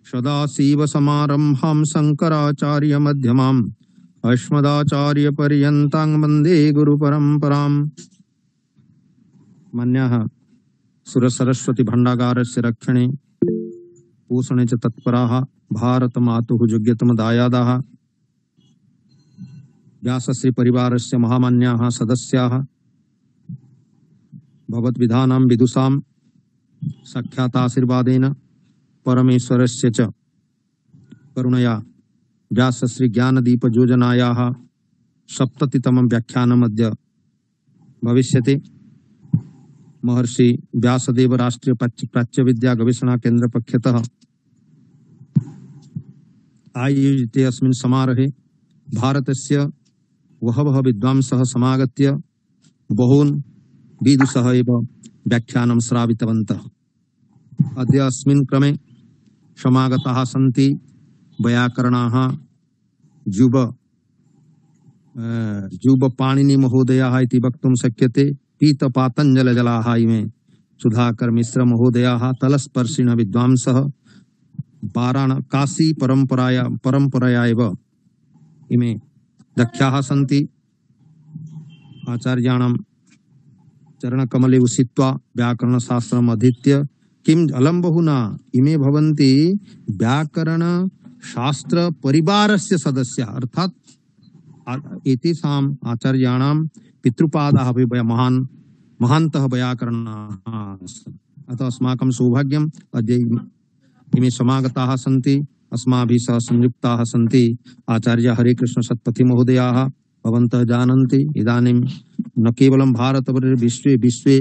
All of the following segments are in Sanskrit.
सदाशिवसमारम्भां शङ्कराचार्यमध्यमाम् अस्मदाचार्यपर्यन्तां वन्दे गुरुपरम्पराम्। मन्यः सुरसरस्वती भण्डागारस्य रक्षणे पोषणे च तत्पराः भारतमातुः योग्यतमदायादाः व्यासश्री परिवारस्य महामान्याः सदस्याः भगवद्विधानां विदुषां साक्षाताशीर्वादेन परमेश्वरस्य च करुणया व्यासश्री ज्ञानदीप योजनायाः 70तमं व्याख्यानमद्य भविष्यति। महर्षि व्यासदेव राष्ट्रीय प्राच्य विद्या गवेषणा केन्द्र पक्षतः आयोजिते अस्मिन् समारोहे भारतस्य बहवः विद्वांसः समागत्य बहून् विदुषः एव व्याख्यानं श्रावितवन्तः। अद्य अस्मिन् क्रमे समागताः सन्ति वैयाकरणाः जुबपाणिनि महोदयाः इति वक्तुं शक्यते। पीतपातञ्जलजलाः इमे सुधाकर मिश्र महोदयाः तलस्पर्शिनः विद्वांसः काशी परम्पराया एव इमे दक्षाः सन्ति। आचार्याणां चरणकमले उषित्वा व्याकरणशास्त्रम् अधीत्य किम् अलं बहुना इमे भवन्ति व्याकरणशास्त्र परिवारस्य सदस्याः, अर्थात् एतेषाम् आचार्याणां पितृपादाः अपि महान्तः वैयाकरणाः। अतः अस्माकं सौभाग्यम् अद्य इमे समागताः सन्ति, अस्माभिः सह संयुक्ताः सन्ति। आचार्य हरिकृष्ण सत्पथी महोदयाः भवन्तः जानन्ति इदानीं न केवलं भारतवर्षे विश्वे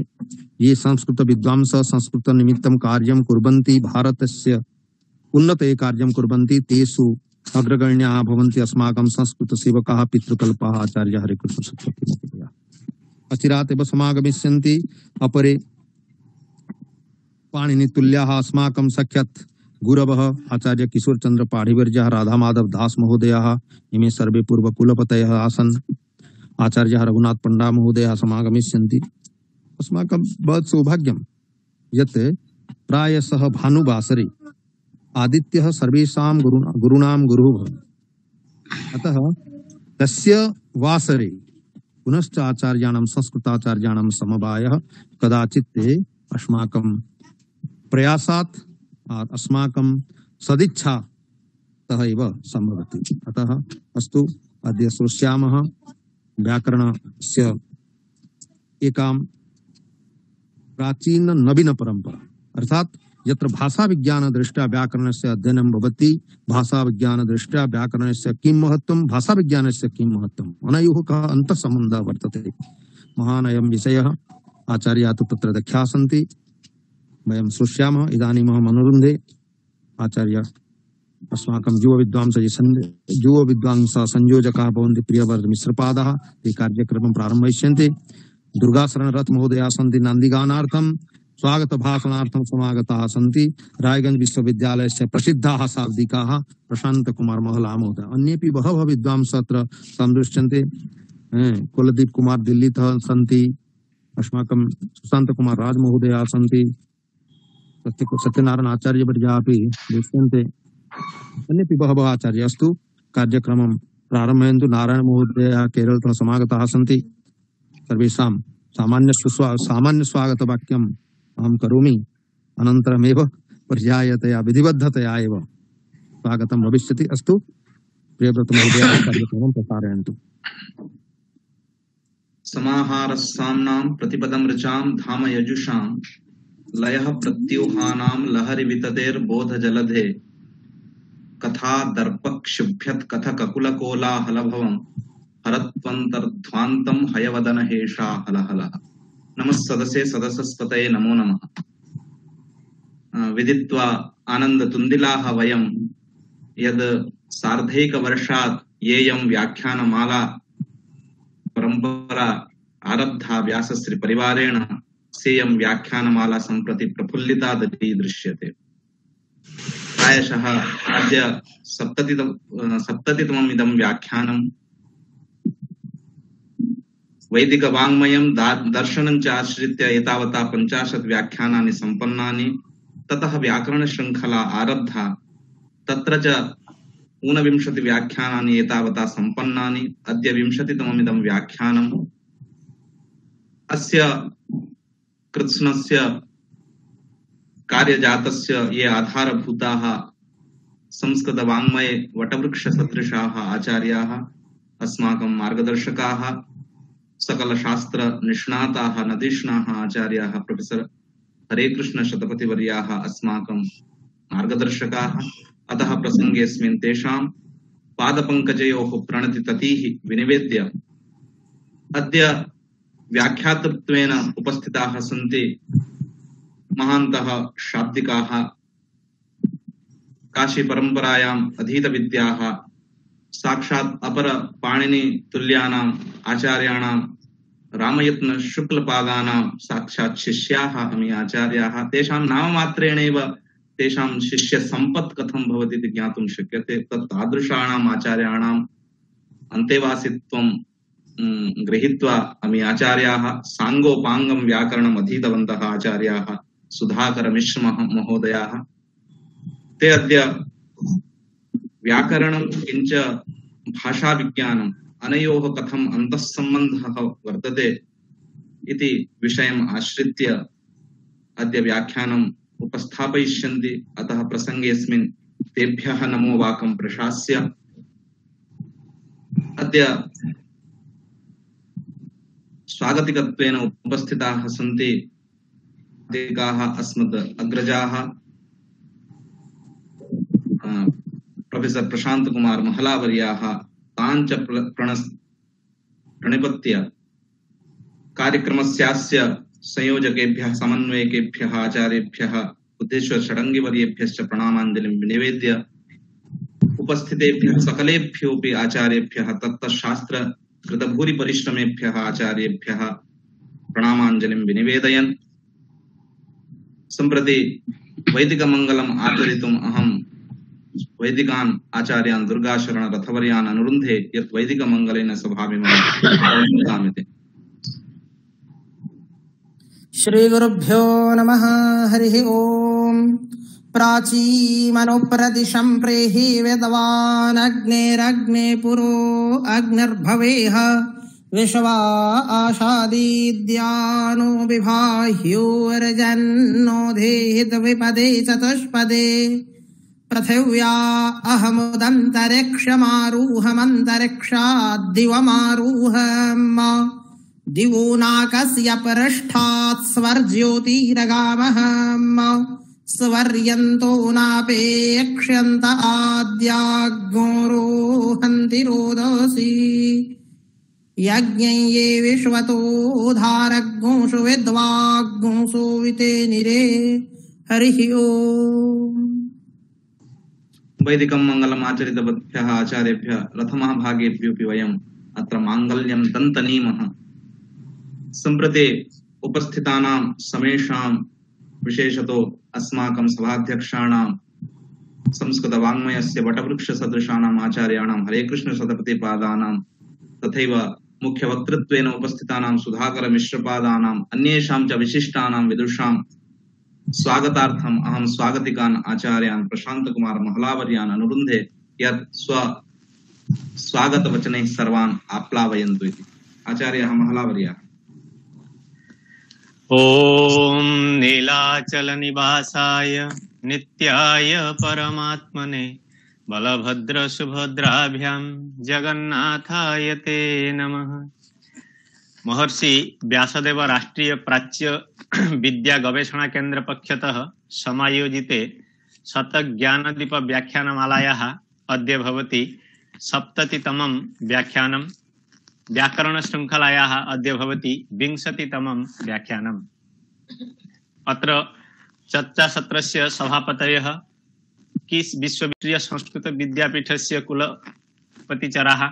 ये संस्कृत विद्वांसः संस्कृत निमित्तं कार्यं कुर्वन्ति, भारतस्य उन्नते कार्यं कुर्वन्ति, तेषु अग्रगण्याः भवन्ति अस्माकं संस्कृत सेवकाः पितृकल्पाः आचार्य हरिकृष्ण सत्पथी महोदयाः। अचिरात् एव समागमिष्यन्ति अपरे पाणिनितुल्याः अस्माकं साक्षात् गुरवः आचार्य किशोरचन्द्र पाढिवर्यः, राधा माधव दास महोदयाः, इमे सर्वे पूर्वकुलपतयः आसन्। आचार्य रघुनाथ पंडा महोदयाः समागमिष्यन्ति। अस्माकं बहुत सौभाग्यं यत् प्रायशः भानुवासरे आदित्यः सर्वेषां गुरूणां गुरुः भवति। अतः तस्य वासरे पुनश्च आचार्याणां संस्कृताचार्याणां समवायः कदाचित् अस्माकं प्रयासात् अस्माकं सदिच्छातः एव सम्भवति। अतः अस्तु, अद्य श्रोष्यामः व्याकरणस्य एकां प्राचीन नवीन परंपरा, अर्थात यत्र भाषा विज्ञान दृष्ट्या व्याकरणस्य अध्ययनं भवति, भाषा विज्ञान दृष्ट्या व्याकरणस्य किं महत्त्वं, भाषा विज्ञानस्य किं महत्त्वम्, अनयोः कः अन्तःसम्बन्धः वर्तते। महान् अयं विषयः। आचार्याः तु तत्र दक्षाः सन्ति, वयं श्रोष्यामः। इदानीम् अहम् अनुरुन्धे आचार्य अस्माकं युव विद्वांसः संयोजकाः भवन्ति प्रियवर्ध मिश्रपादाः, ते कार्यक्रमं प्रारम्भयिष्यन्ति। दुर्गाशरणरथ महोदयाः सन्ति, नान्दिगानार्थं स्वागत भाषणार्थं समागताः सन्ति। रायगंज विश्वविद्यालयस्य प्रसिद्धाः शाब्दिकाः प्रशांत कुमार महला महोदय, अन्येपि बहवः विद्वांसः अत्र सन्दृश्यन्ते। कुलदीप कुमार दिल्लीतः सन्ति, अस्माकं सुशांत कुमार राज महोदयाः सन्ति, सत्यनारायण आचार्यवर्याः अपि दृश्यन्ते, अन्येपि बहवः आचार्याः। अस्तु, कार्यक्रमं प्रारम्भयन्तु। नारायण महोदयाः केरलतः समागताः सन्ति। सर्वेषां सामान्य स्वागतवाक्यम् अहं करोमि, अनन्तरमेव पर्यायतया विधिबद्धतया एव स्वागतं भविष्यति। अस्तु, प्रियव्रत महोदयाः कार्यक्रमं प्रसारयन्तु। समाहारस्साम्नां प्रतिपदं ऋचां धाम यजुषां लयः प्रत्यूहानां लहरि विततेर्बोधजलधे कथा दर्पक्षुभ्यत् कथककुलकोलाहलभवं हरत्वन्तर्ध्वान्तं हयवदन हेषा हलहलः। नमः सदसे सदसस्पतये नमो नमः। विदित्वा आनन्दतुन्दिलाः वयं यद् सार्धैकवर्षात् येयं व्याख्यानमाला परम्परा आरब्धा व्यासश्री परिवारेण, सेयं व्याख्यानमाला सम्प्रति प्रफुल्लिता दृश्यते। प्रायशः अद्य 70तमम् इदं व्याख्यानं वैदिक वाङ्मयं दर्शनं च आश्रित्य एतावता 50 व्याख्यानानि सम्पन्नानि। ततः व्याकरण श्रृंखला आरब्धा। तत्र च ऊनविंशति व्याख्यानानि एतावता सम्पन्नानि। अद्य 20तममिदं व्याख्यानम्। अस्य कृत्स्नस्य कार्यजातस्य ये आधारभूताः संस्कृतवाङ्मये वटवृक्षसदृशाः आचार्याः, अस्माकं मार्गदर्शकाः, सकलशास्त्रनिष्णाताः नदीष्णाः आचार्याः, प्रोफेसर हरेकृष्ण शतपथिवर्याः अस्माकं मार्गदर्शकाः। अतः प्रसङ्गेऽस्मिन् तेषां पादपङ्कजयोः प्रणतिततीः विनिवेद्य अद्य व्याख्यातृत्वेन उपस्थिताः सन्ति महान्तः शाब्दिकाः, काशी परम्परायाम् अधीतविद्याः, साक्षात् अपर पाणिनि तुल्यानाम् आचार्याणां रामयत्न शुक्लपादानां साक्षात् शिष्याः अमी आचार्याः। तेषां नाममात्रेणैव तेषां शिष्य सम्पत् कथं भवति इति ज्ञातुं शक्यते। तादृशाणाम् आचार्याणाम् अन्तेवासित्वं गृहीत्वा अमी आचार्याः साङ्गोपाङ्गं व्याकरणम् अधीतवन्तः आचार्याः सुधाकर मिश्र महोदयाः। ते अद्य व्याकरणं किञ्च भाषाविज्ञानम् अनयोः कथम् अन्तःसम्बन्धः वर्तते इति विषयम् आश्रित्य अद्य व्याख्यानम् उपस्थापयिष्यन्ति। अतः प्रसङ्गेऽस्मिन् तेभ्यः नमो वाकं प्रशास्य अद्य स्वागतिकत्वेन उपस्थिताः सन्ति अस्मद् अग्रजाः प्रोफेसर प्रशांत कुमार महलावर्याः। ताञ्च प्रणिपत्य कार्यक्रमस्यास्य संयोजकेभ्यः, समन्वयकेभ्यः, आचार्येभ्यः, बुद्धेश्वर षडङ्गिवर्येभ्यश्च प्रणामाञ्जलिं विनिवेद्य उपस्थितेभ्यः सकलेभ्योऽपि आचार्येभ्यः, तत्तशास्त्र कृतभूरिपरिश्रमेभ्यः आचार्येभ्यः प्रणामाञ्जलिं विनिवेदयन् सम्प्रति वैदिकमङ्गलम् आचरितुम् अहं वैदिकान् आचार्यान् दुर्गाशरण रथवर्यान् अनुरुन्धे यत् वैदिकमङ्गलेन सभामिति। श्रीगुरुभ्यो नमः। हरिः ओम्। प्राचीमनुप्रदिशं प्रेहि वेदवान् अग्नेरग्ने पुरो अग्निर्भवेह विश्वा आशादीद्यानो विभाह्योर्जन्नो धेहितविपदे चतुष्पदे पृथिव्या अहमुदन्तरिक्षमारूहमन्तरिक्षाद्दिवमारूहम् दिवो नाकस्य पृष्ठात् स्वर्ज्योतिरगामहम् स्वर्यन्तो नापेक्ष्यन्त आद्याग्निरोहन्ति रोदसी यज्ञं ये विश्वतो धारग्ंसु विद्वाग्ंसु विते निरे। हरिः ओम्। वैदिकं मंगलम् आचरितवद्भ्यः आचार्येभ्यः रथमहाभागेभ्योऽपि वयम् अत्र माङ्गल्यं दन्तनीमः। सम्प्रति उपस्थितानां समेषां विशेषतो अस्माकं सभाध्यक्षाणां संस्कृतवाङ्मयस्य वटवृक्षसदृशानाम् आचार्याणां हरेकृष्ण शतपथिपादानां तथैव मुख्यवक्तृत्वेन उपस्थितानां सुधाकर मिश्रपादानाम् अन्येषां च विशिष्टानां विदुषां स्वागतार्थम् अहं स्वागतिकान् आचार्यान् प्रशांत कुमार महलावर्यान् अनुरुन्धे यत् स्वागतवचनैः सर्वान् आप्लावयन्तु इति। आचार्यः महलावर्याः। ओम नीलाचल निवासाय नित्याय परमात्मने बलभद्र सुभद्राभ्यां जगन्नाथाय ते नमः। महर्षि व्यासदेव राष्ट्रीय प्राच्य विद्या गवेषणा केंद्र पक्षतः समायोजिते शतज्ञानदीप व्याख्यानमालायाः अद्य भवति 70तमं व्याख्यानं। व्याकरण श्रृंखलायाः अद्य भवति 20तमं व्याख्यानम्। अत्र चर्चासत्रस्य सभापतयः किस् विश्वविद्यालय संस्कृत विद्यापीठस्य कुलपतिचराः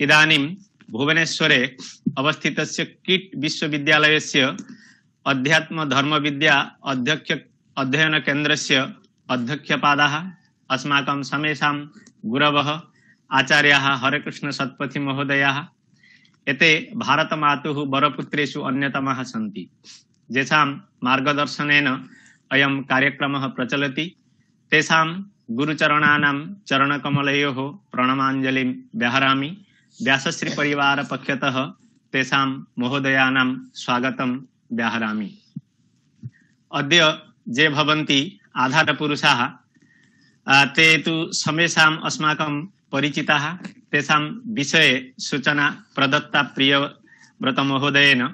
इदानीं भुवनेश्वरे अवस्थितस्य किट् विश्वविद्यालयस्य अध्यात्म धर्म विद्या अध्ययन केन्द्रस्य अध्यक्षपादाः अस्माकं समेषां गुरवः आचार्याः हरेकृष्ण शतपथि महोदयाः एते भारतमातुः वरपुत्रेषु अन्यतमाः सन्ति, येषां मार्गदर्शनेन अयं कार्यक्रमः प्रचलति। तेषां गुरुचरणानां चरणकमलयोः प्रणमाञ्जलिं व्याहरामि। व्यासश्री परिवार पक्षतः तेषां महोदयानां स्वागतं व्याहरामि। अद्य ये भवन्ति आधारपुरुषाः ते तु समेषाम् अस्माकं परिचिताः। तेषां विषये सूचना प्रदत्ता प्रियव्रतमहोदयेन।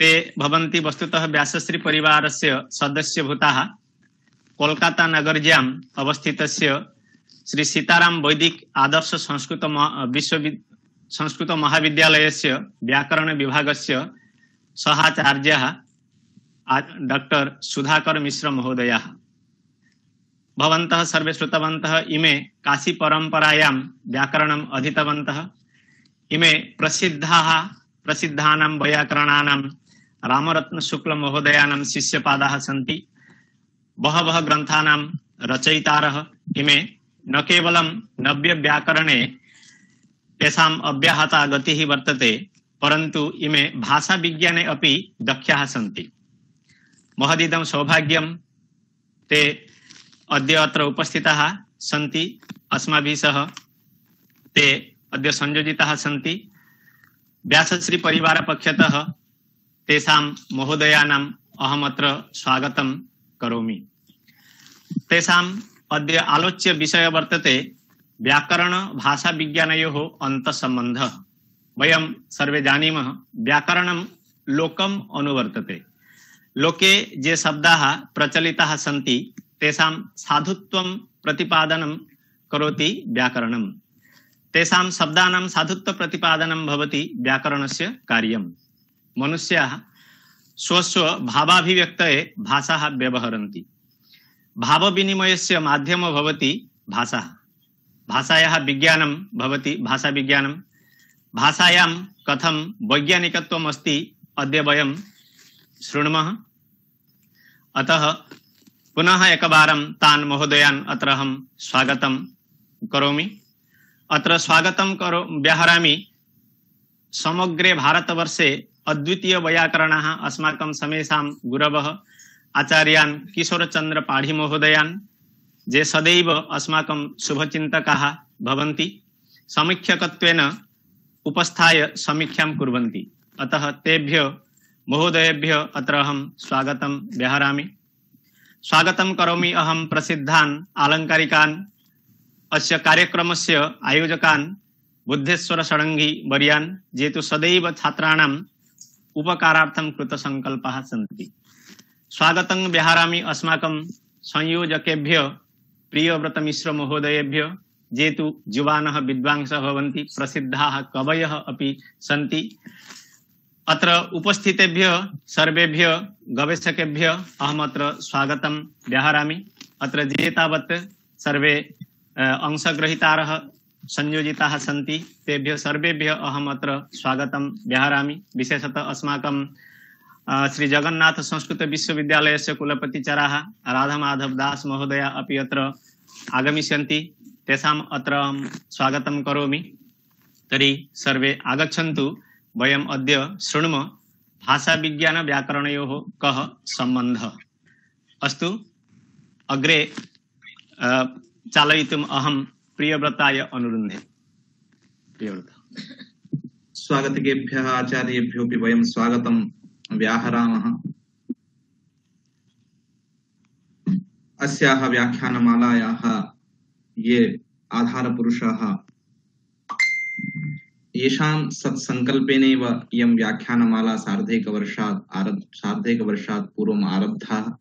ते भवन्ति वस्तुतः व्यासश्री परिवारस्य सदस्यभूताः। कोलकाता नगर्याम् अवस्थितस्य श्री सीताराम वैदिक आदर्श संस्कृत महाविद्यालयस्य व्याकरण विभागस्य सहाचार्यः डॉक्टर सुधाकर मिश्र महोदयः। भवन्तः सर्वे श्रुतवन्तः इमे काशी परम्परायां व्याकरणम् अधीतवन्तः। इमे प्रसिद्धानां वैयाकरणानां रामरत्न शुक्ल महोदयानां शिष्यपादाः सन्ति। बहवः ग्रन्थानां रचयितारः इमे। न केवलं नव्य व्याकरणे तेषाम् अव्याहता गतिः वर्तते, परन्तु इमे भाषा विज्ञाने अपि दक्षाः सन्ति। महदिदं सौभाग्यं ते अद्य अत्र उपस्थिताः सन्ति अस्माभिः सह। ते अद्य संयोजिताः सन्ति। व्यासश्री परिवार पक्षतः तेषां महोदयानाम् अहमत्र स्वागतं करोमि। तेषाम् अद्य आलोच्य विषय वर्तते व्याकरण भाषा विज्ञानयोः अन्तःसम्बन्धः। वयं सर्वे जानीमः व्याकरणं लोकम् अनुवर्तते। लोके ये शब्दाः प्रचलिताः सन्ति तेषां साधुत्वं प्रतिपादनं करोति व्याकरणं। तेषां शब्दानां साधुत्व प्रतिपादनं भवति व्याकरणस्य कार्यं। मनुष्याः स्वस्व भावाभिव्यक्तये भाषाः व्यवहरन्ति। भावविनिमयस्य माध्यमो भवति भाषा। भाषायाः विज्ञानं भवति भाषाविज्ञानं। भाषायां कथं वैज्ञानिकत्वम् अस्ति अद्य वयं शृणुमः। अतः पुनः एकवारं तान् महोदयान् अत्र अहं स्वागतं करोमि। अत्र स्वागतं व्याहरामि। समग्रे भारतवर्षे अद्वितीय वैयाकरणाः अस्माकं समेषां गुरवः आचार्यान् किशोरचन्द्र पाढी महोदयान्, ये सदैव अस्माकं शुभचिन्तकाः भवन्ति, समीक्षकत्वेन उपस्थाय समीक्षां कुर्वन्ति। अतः तेभ्य महोदयेभ्य अत्र अहं स्वागतं व्याहरामि। स्वागतं करोमि अहं प्रसिद्धान् आलङ्कारिकान्, अस्य कार्यक्रमस्य आयोजकान् बुद्धेश्वर षडङ्गी वर्यान्, ये तु सदैव छात्राणाम् उपकारार्थं कृतसङ्कल्पाः सन्ति। स्वागतं व्याहरामि अस्माकं संयोजकेभ्य प्रियव्रत मिश्र महोदयेभ्य, ये तु युवानः विद्वांसः भवन्ति, प्रसिद्धाः कवयः अपि सन्ति। अत्र उपस्थितेभ्य सर्वेभ्य गवेषकेभ्य अहमत्र स्वागतं व्याहरामि। अत्र ये तावत् सर्वे अंशग्रहीतारः संयोजिताः सन्ति तेभ्य सर्वेभ्य अहमत्र स्वागतं व्याहरामि। विशेषतः अस्माकं श्री जगन्नाथ संस्कृत विश्वविद्यालयस्य कुलपतिचराः राधामाधव दास महोदय अपि अत्र आगमिष्यन्ति। तेषाम् अत्र स्वागतं करोमि। तर्हि सर्वे आगच्छन्तु। वयम् अद्य शृणुमः भाषा विज्ञान व्याकरणयोः कः सम्बन्धः। अस्तु, अग्रे चालयितुम् अहं प्रियव्रताय अनुरुन्धे। प्रियव्रत। स्वागतिकेभ्यः आचार्येभ्योऽपि वयं स्वागतं व्याहरामः। अस्याः व्याख्यानमालायाः ये आधारपुरुषाः, येषां सत्सङ्कल्पेनैव इयं व्याख्यानमाला सार्धैकवर्षात् पूर्वम् आरब्धा।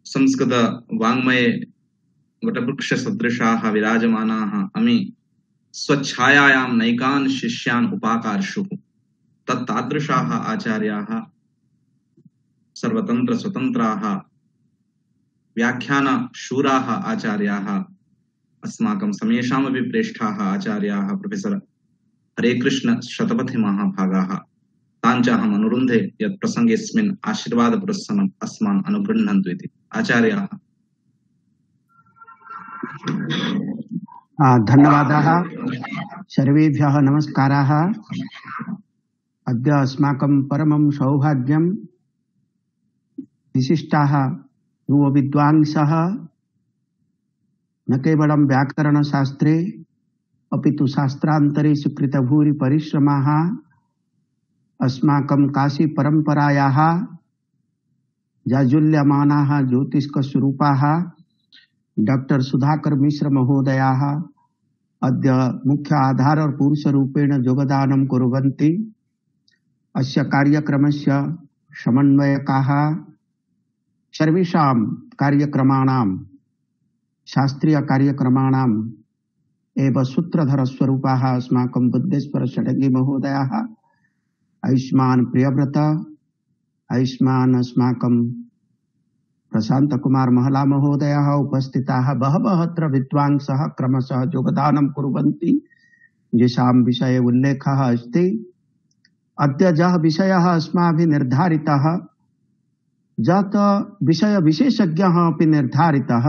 संस्कृत वाङ्मये वटवृक्षसदृशाः विराजमानाः अमी स्वच्छायायां नैकान् शिष्यान् उपाकार्षुः। तत्तादृशाः आचार्याः सर्वतन्त्र स्वतन्त्राः व्याख्यानशूराः आचार्याः अस्माकं समेषामपि प्रेष्ठाः आचार्याः प्रोफेसर हरेकृष्ण शतपथि महाभागाः। तान् च अहम् अनुरुन्धे यत् प्रसङ्गेऽस्मिन् आशीर्वादपुरस्सरम् अस्मान् अनुगृह्णन्तु इति। आचार्याः। धन्यवादाः। सर्वेभ्यः नमस्काराः। अद्य अस्माकं परमं सौभाग्यं विशिष्टाः यो विद्वांसः न केवलं व्याकरणशास्त्रे अपि तु शास्त्रान्तरेषु कृतभूरि परिश्रमाः अस्माकं काशी परम्परायाः जाजुल्यमानाः ज्योतिष्कस्वरूपाः डॉक्टर सुधाकर मिश्र महोदयाः अद्य मुख्य आधार और पुरुषरूपेण योगदानं कुर्वन्ति। अस्य कार्यक्रमस्य समन्वयकाः सर्वेषां कार्यक्रमाणां शास्त्रीय कार्यक्रमाणाम् एव सूत्रधरस्वरूपाः अस्माकं बुद्धेश्वर षडङ्गी महोदयाः, आयुष्मान प्रियव्रत, आयुष्मान अस्माकं प्रशांत कुमार महला महोदयः उपस्थिताः बहवः अत्र विद्वांसः क्रमशः योगदानं कुर्वन्ति, येषां विषये उल्लेखः अस्ति। अद्य यः विषयः अस्माभिः निर्धारितः, यत् विषय विशेषज्ञः अपि निर्धारितः,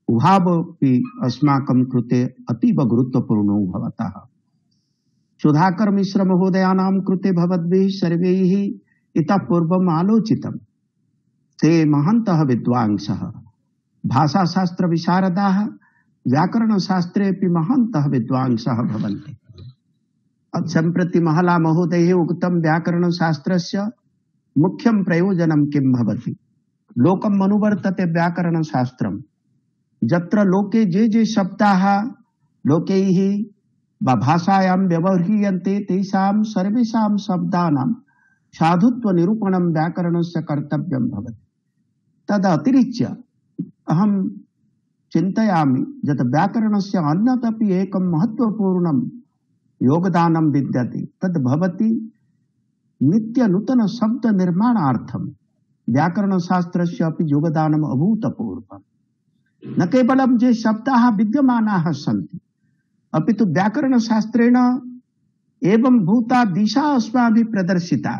उभावपि अस्माकं कृते अतीव गुरुत्वपूर्णो भवतः। सुधाकर मिश्र महोदयानां कृते भवद्भिः सर्वैः इतः पूर्वम् आलोचितम्। ते महन्तः विद्वांसः, भाषाशास्त्र विशारदाः, व्याकरणशास्त्रेऽपि महन्तः विद्वांसः भवन्ति। सम्प्रति महला महोदयैः उक्तं व्याकरणशास्त्रस्य मुख्यं प्रयोजनं किं भवति? लोकम् अनुवर्तते व्याकरणशास्त्रम्। यत्र लोके जे शब्दाः लोकैः वा भाषायां व्यवह्रियन्ते तेषां सर्वेषां शब्दानां साधुत्व निरूपणं व्याकरणस्य कर्तव्यं भवति। तदतिरिच्य अहं चिन्तयामि यत् व्याकरणस्य अन्यदपि एकं महत्त्वपूर्णं योगदानं विद्यते, तद् भवति नित्य नूतन शब्द निर्माणार्थं व्याकरणशास्त्रस्य अपि योगदानम् अभूतपूर्वम्। न केवलं ये शब्दाः विद्यमानाः सन्ति, अपि तु व्याकरणशास्त्रेण एवं भूता दिशा अस्माभिः प्रदर्शिता,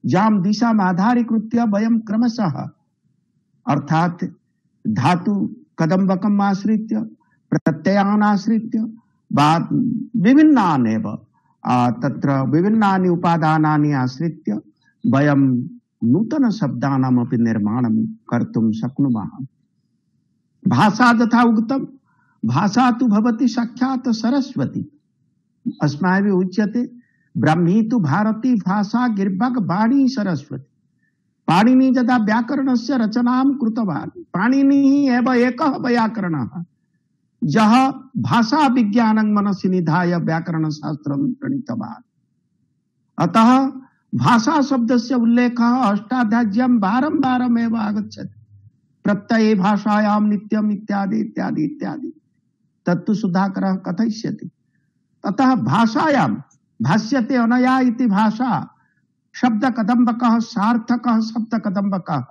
यां दिशाम् आधारीकृत्य वयं क्रमशः अर्थात धातु कदम्बकम् आश्रित्य प्रत्ययान् आश्रित्य विभिन्नानेव तत्र विभिन्नानि उपादानानि आश्रित्य वयं नूतन शब्दानामपि निर्माणं कर्तुं शक्नुमः। भाषा तथा उक्तं, भाषा तु भवति साक्षात् सरस्वती। अस्माभिः उच्यते ब्रह्मी तु भारती भाषा गिर्भग वाणी सरस्वती। पाणिनि यदा व्याकरणस्य रचनां कृतवान्, पाणिनिः एव एकः वैयाकरणः यः भाषा विज्ञानं मनसि निधाय व्याकरणशास्त्रं प्रणीतवान्। अतः भाषा शब्दस्य उल्लेखः अष्टाध्याय्यां बारम्बारमेव आगच्छति। प्रत्यये भाषायां नित्यम् इत्यादि इत्यादि इत्यादि तत्तु सुधाकरः कथयिष्यति। अतः भाषायां भाष्यते अनया इति भाषा शब्द कदम्बकः सार्थकः शब्द कदम्बकः।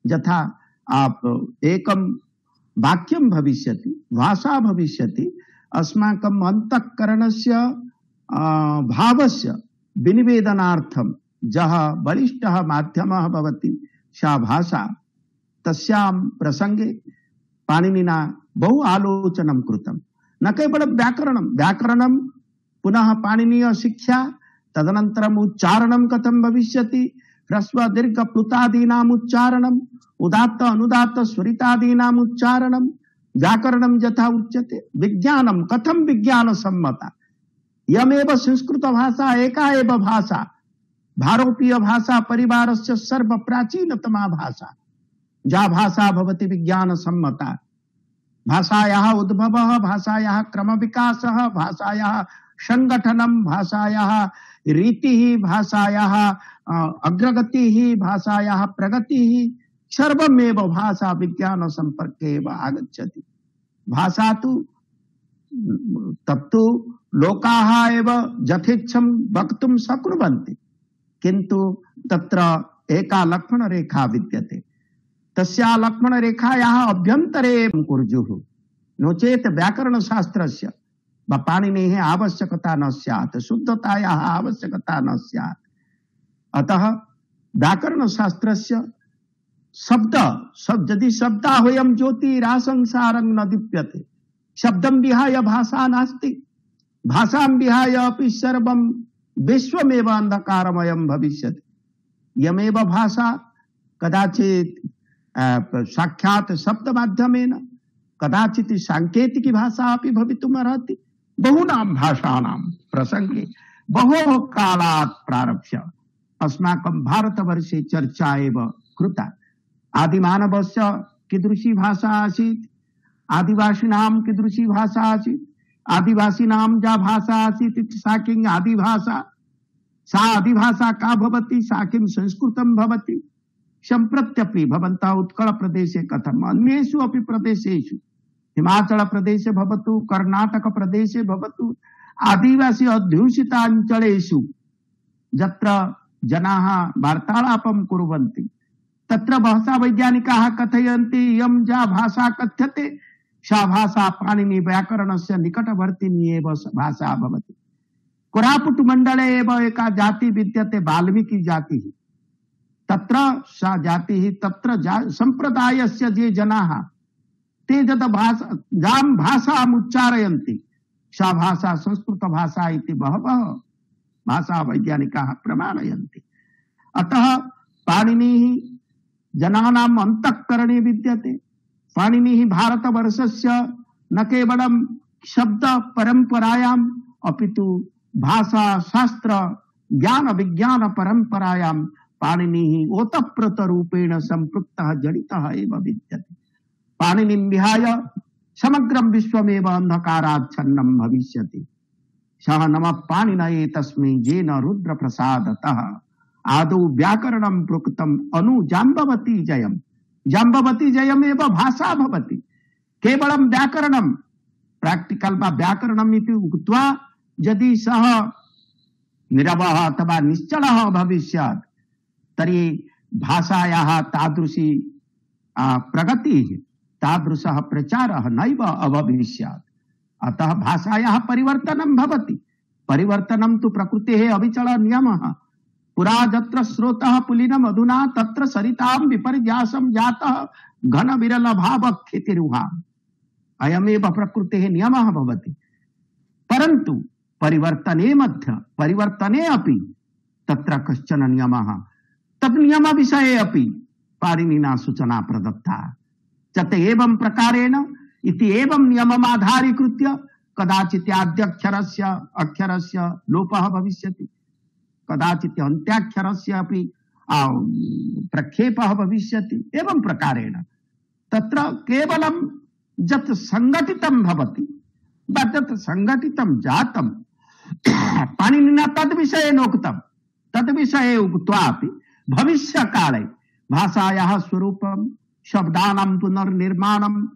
यथा आप एकं वाक्यं भविष्यति, भाषा भविष्यति, अस्माकं अंतःकरणस्य भावस्य विनिवेदनार्थं यः बलिष्ठः माध्यमः भवति सा भाषा, तस्यां प्रसंगे पाणिनिना बहु आलोचनं कृतं। न केवलं व्याकरणं पुनः पाणिनीय शिक्षा, तदनन्तरम् उच्चारणं कथं भविष्यति, ह्रस्व दीर्घ प्लुतादीनाम् उच्चारणम्, उदात्त अनुदात्त स्वरितादीनाम् उच्चारणं, व्याकरणं यथा उच्यते, विज्ञानं कथं विज्ञानसम्मता। यमेव संस्कृत भाषा एका एव भाषा, भारतीय भाषा परिवारस्य सर्वप्राचीनतमा भाषा, या भाषा भवति विज्ञानसम्मता। भाषायाः उद्भवः, भाषायाः क्रमविकासः, भाषायाः संगठनं, भाषायाः रीतिः, भाषायाः अग्रगतिः, भाषायाः प्रगतिः, सर्वमेव भाषा विज्ञान संपर्के एव आगच्छति। भाषा तु तत्तु लोकाः एव यथेच्छं वक्तुं शक्नुवन्ति, किन्तु तत्र एका लक्ष्मणरेखा विद्यते। तस्या लक्ष्मणरेखायाः अभ्यन्तरे कुर्युः, नो चेत् व्याकरणशास्त्रस्य पाणिनेः आवश्यकता न स्यात्, शुद्धतायाः आवश्यकता न स्यात्। अतः व्याकरणशास्त्रस्य शब्द यदि शब्दाह्वयं ज्योतिरासंसारं न दीप्यते, शब्दं विहाय भाषा नास्ति, भाषां विहाय अपि सर्वं विश्वमेव अंधकारमयं भविष्यति। यमेव भाषा कदाचित् साक्षात् शब्द माध्यमेन कदाचित् सांकेतिकी भाषा अपि भवितुम् अर्हति। बहूनां भाषाणां प्रसंगे बहोः कालात् प्रारभ्य अस्माकं भारतवर्षे चर्चा एव कृता। आदिमानवस्य कीदृशी भाषा आसीत्, आदिवासिनां कीदृशी भाषा आसीत्, आदिवासिनां या भाषा आसीत् इति सा किं आदिभाषा, सा आदिभाषा का भवति, सा किं संस्कृतं भवति। सम्प्रत्यपि भवन्तः उत्कलप्रदेशे कथम्, अन्येषु अपि प्रदेशेषु, हिमाचलप्रदेशे भवतु, कर्णाटकप्रदेशे भवतु, आदिवासी अध्युषिताञ्चलेषु यत्र जनाः वार्तालापं कुर्वन्ति तत्र भाषावैज्ञानिकाः कथयन्ति इयं या भाषा कथ्यते सा भाषा पाणिनि व्याकरणस्य निकटवर्तिनी एव भाषा भवति। कोरापुट मण्डले एव एका जाति विद्यते, वाल्मीकि जातिः। तत्र सा जातिः, तत्र सम्प्रदायस्य ये जनाः ते यद् यां भाषाम् उच्चारयन्ति सा भाषा संस्कृत भाषा इति बहवः भाषा वैज्ञानिकाः प्रमाणयन्ति। अतः पाणिनिः जनानाम् अंतःकरणे विद्यते। पाणिनिः भारतवर्षस्य न केवलं शब्द परंपरायाम् अपितु भाषा शास्त्र ज्ञान विज्ञान परंपरायां पाणिनिः ओतप्रोतरूपेण संपृक्तः जडितः एव विद्यते। पाणिनिं विहाय समग्रं विश्वमेव अंधकाराच्छन्नं भविष्यति। सः नमः पाणिनये तस्मै येन रुद्रप्रसादतः आदौ व्याकरणं प्रोक्तम् अनु जाम्बवती जयम्। जाम्बवती जयमेव भाषा भवति। केवलं व्याकरणं प्राक्टिकल वा व्याकरणम् इति उक्त्वा यदि सः निरवः अथवा निश्चलः भविष्यात् तर्हि भाषायाः तादृशी प्रगतिः, तादृशः प्रचारः नैव अभविष्यात्। अतः भाषायाः परिवर्तनं भवति। परिवर्तनं तु प्रकृतेः अविचल नियमः। पुरा यत्र स्रोतः पुलिनम् अधुना तत्र सरितां विपर्यासं जातः घन विरल भाव क्षितिरुहाम्। अयमेव प्रकृतेः नियमः भवति। परन्तु परिवर्तने अपि तत्र कश्चन नियमः, तद् नियम विषये अपि पाणिनिना सूचना प्रदत्ता। चत एवं प्रकारेण इति एवं नियममाधारीकृत्य कदाचित् आद्यक्षरस्य लोपः भविष्यति, कदाचित् अन्त्याक्षरस्य अपि प्रक्षेपः भविष्यति। एवं प्रकारेण तत्र केवलं यत् संगठितं भवति वा यत् संगठितं जातं पाणिनिना तद्विषये नोक्तं, तद्विषये उक्त्वापि भविष्यकाले भाषायाः स्वरूपं शब्दानां पुनर्निर्माणं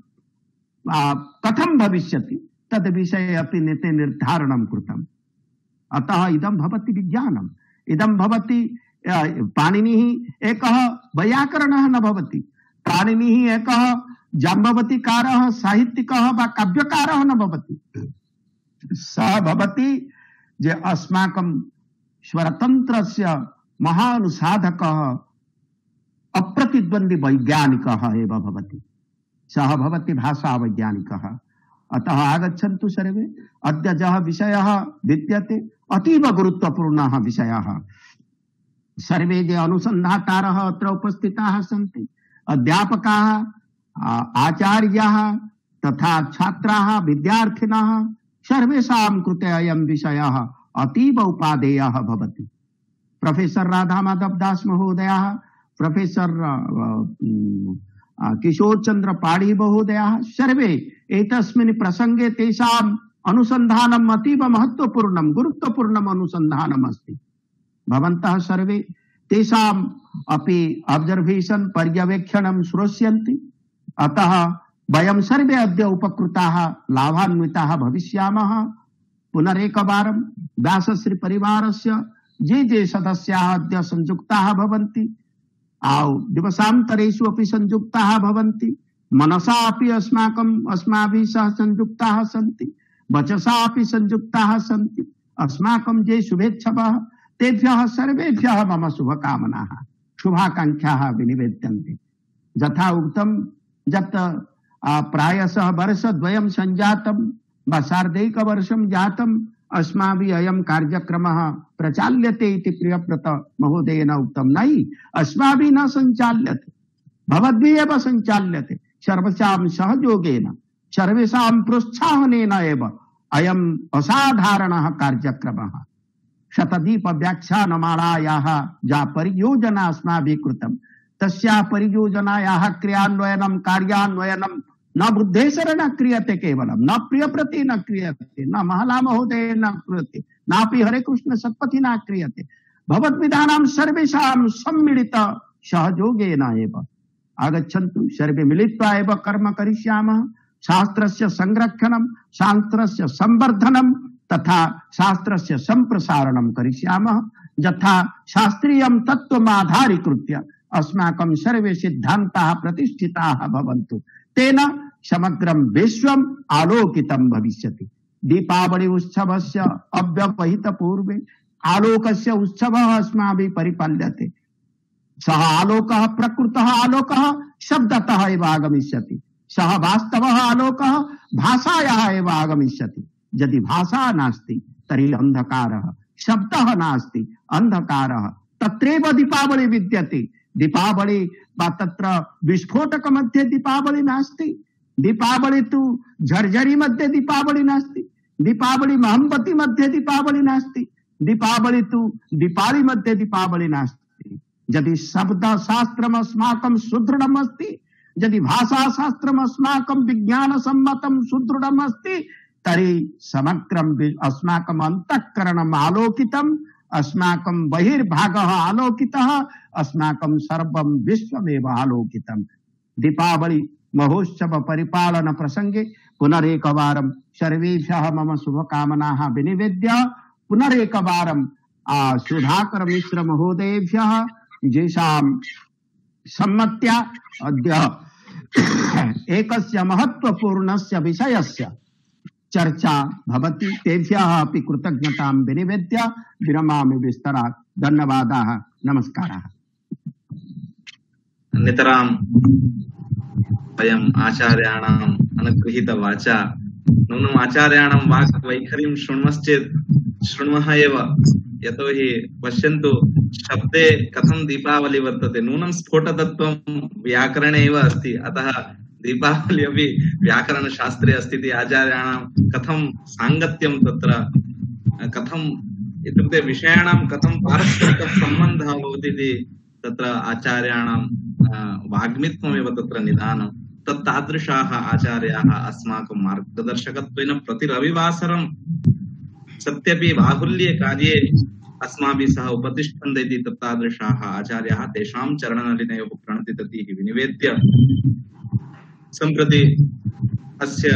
कथं भविष्यति तद् विषये अपि नेते निर्धारणं कृतम्। अतः इदं भवति विज्ञानम्। इदं भवति पाणिनिः एकः वैयाकरणः न भवति। पाणिनिः एकः जाम्बवतीकारः साहित्यिकः वा काव्यकारः न भवति। सः भवति जे अस्माकं स्वतन्त्रस्य महानुसाधकः अप्रतिद्वन्द्वी वैज्ञानिकः एव भवति। सः भवति भाषा वैज्ञानिकः। अतः आगच्छन्तु सर्वे। अद्य यः विषयः विद्यते अतीव गुरुत्वपूर्णः विषयः। सर्वे जे अनुसन्धातारः अत्र उपस्थिताः सन्ति, अध्यापकाः, आचार्याः तथा छात्राः, विद्यार्थिनः, सर्वेषां कृते अयं विषयः अतीव उपादेयः भवति। प्रोफेसर राधा माधव दास महोदयः, प्रोफेसर किशोर चंद्र पाढ़ी महोदयः सर्वे एतस्मिन् प्रसंगे तेषाम् अनुसन्धानम् अतीव महत्वपूर्णं गुरुत्वपूर्णम् अनुसन्धानम् अस्ति। भवन्तः सर्वे तेषाम् अपि ऑब्जर्वेशन पर्यवेक्षणं श्रोष्यन्ति। अतः वयं सर्वे अद्य उपकृताः लाभान्विताः भविष्यामः। पुनरेकवारं व्यासश्री परिवारस्य ये सदस्याः अद्य संयुक्ताः भवन्ति, दिवसान्तरेषु अपि संयुक्ताः भवन्ति, मनसा अपि अस्माभिः सह संयुक्ताः सन्ति, वचसा अपि संयुक्ताः सन्ति। अस्माकं ये शुभेच्छवः तेभ्यः सर्वेभ्यः मम शुभकामनाः शुभाकांक्षाः विनिवेद्यन्ते। यथा उक्तं यत् प्रायशः वर्षद्वयं सञ्जातं वा सार्धैकवर्षं जातं अस्माभिः अयं कार्यक्रमः प्रचाल्यते इति प्रियव्रत महोदयेन उक्तं। नहि, अस्माभिः न सञ्चाल्यते। भवद्भिः एव संचाल्यते सर्वेषां सहयोगेन सर्वेषां प्रोत्साहनेन एव अयम् असाधारणः कार्यक्रमः। शतदीप व्याख्यानमालायाः या परियोजना अस्माभिः कृतं तस्याः परियोजनायाः क्रियान्वयनं कार्यान्वयनं न बुद्धेश्वरेण क्रियते, केवलं न प्रियव्रते न क्रियते, न महला महोदय न क्रियते, नापि हरे कृष्ण सत्पथिना क्रियते, भगवद्विधानां सर्वेषां सम्मिलित सहयोगेन एव। आगच्छन्तु सर्वे मिलित्वा एव कर्म करिष्यामः। शास्त्रस्य संरक्षणं, शास्त्रस्य संवर्धनं तथा शास्त्रस्य संप्रसारणं करिष्यामः। यथा शास्त्रीयं तत्त्वमाधारीकृत्य अस्माकं सर्वे सिद्धान्ताः प्रतिष्ठिताः भवन्तु, तेन समग्रं विश्वम् आलोकितं भविष्यति। दीपावली उत्सवस्य अव्यवहित पूर्वे आलोकस्य उत्सवः अस्माभिः परिपाल्यते। सः आलोकः प्रकृतः आलोकः शब्दतः एव आगमिष्यति, सः वास्तवः आलोकः भाषायाः एव आगमिष्यति। यदि भाषा नास्ति तर्हि अंधकारः, शब्दः नास्ति अंधकारः, तत्रैव दीपावली विद्यते। दीपावली वा तत्र विस्फोटक मध्ये दीपावली नास्ति, दीपावली तु झर्झरी मध्ये दीपावली नास्ति, दीपावली मोहम्बती मध्ये दीपावली नास्ति, दीपावली तु दीपावली मध्ये दीपावली नास्ति। यदि शब्द शास्त्रम् अस्माकं सुदृढम् अस्ति, यदि भाषा शास्त्रम् अस्माकं विज्ञान सम्मतं सुदृढम् अस्ति, तर्हि समग्रम् अस्माकम् अन्तःकरणम् आलोकितम्, अस्माकं बहिर्भागः आलोकितः, अस्माकं सर्वं विश्वमेव आलोकितम्। दीपावली महोत्सव परिपालन प्रसंगे पुनरेकवारं सर्वेभ्यः मम शुभकामनाः विनिवेद्य पुनरेकवारं सुधाकर मिश्र महोदयेभ्यः येषां सम्मत्या अद्य एकस्य महत्वपूर्णस्य विषयस्य चर्चा भवति, तेभ्यः अपि कृतज्ञतां विनिवेद्य विरमामि विस्तरात्। धन्यवादाः, नमस्काराः। नितरां वयम् आचार्याणाम् अनुगृहीत वाचा नूनम् आचार्याणां वाक् वैखरीं शृण्मः एव। यतोहि पश्यन्तु, शब्दे कथं दीपावली वर्तते, नूनं स्फोटतत्त्वं व्याकरणे एव अस्ति, अतः दीपावली अपि व्याकरणशास्त्रे अस्ति इति आचार्याणां कथं साङ्गत्यं तत्र कथम् इत्युक्ते विषयाणां कथं पारस्परिकः सम्बन्धः भवति इति तत्र आचार्याणां वाग्मित्वमेव तत्र निदानं। तत्तादृशाः आचार्याः अस्माकं मार्गदर्शकत्वेन प्रति रविवासरं सत्यपि बाहुल्ये कार्ये अस्माभिः सह उपतिष्ठन्ते इति तत्तादृशाः आचार्याः तेषां चरणनलिनयोः प्रणतिततिः विनिवेद्य सम्प्रति अस्य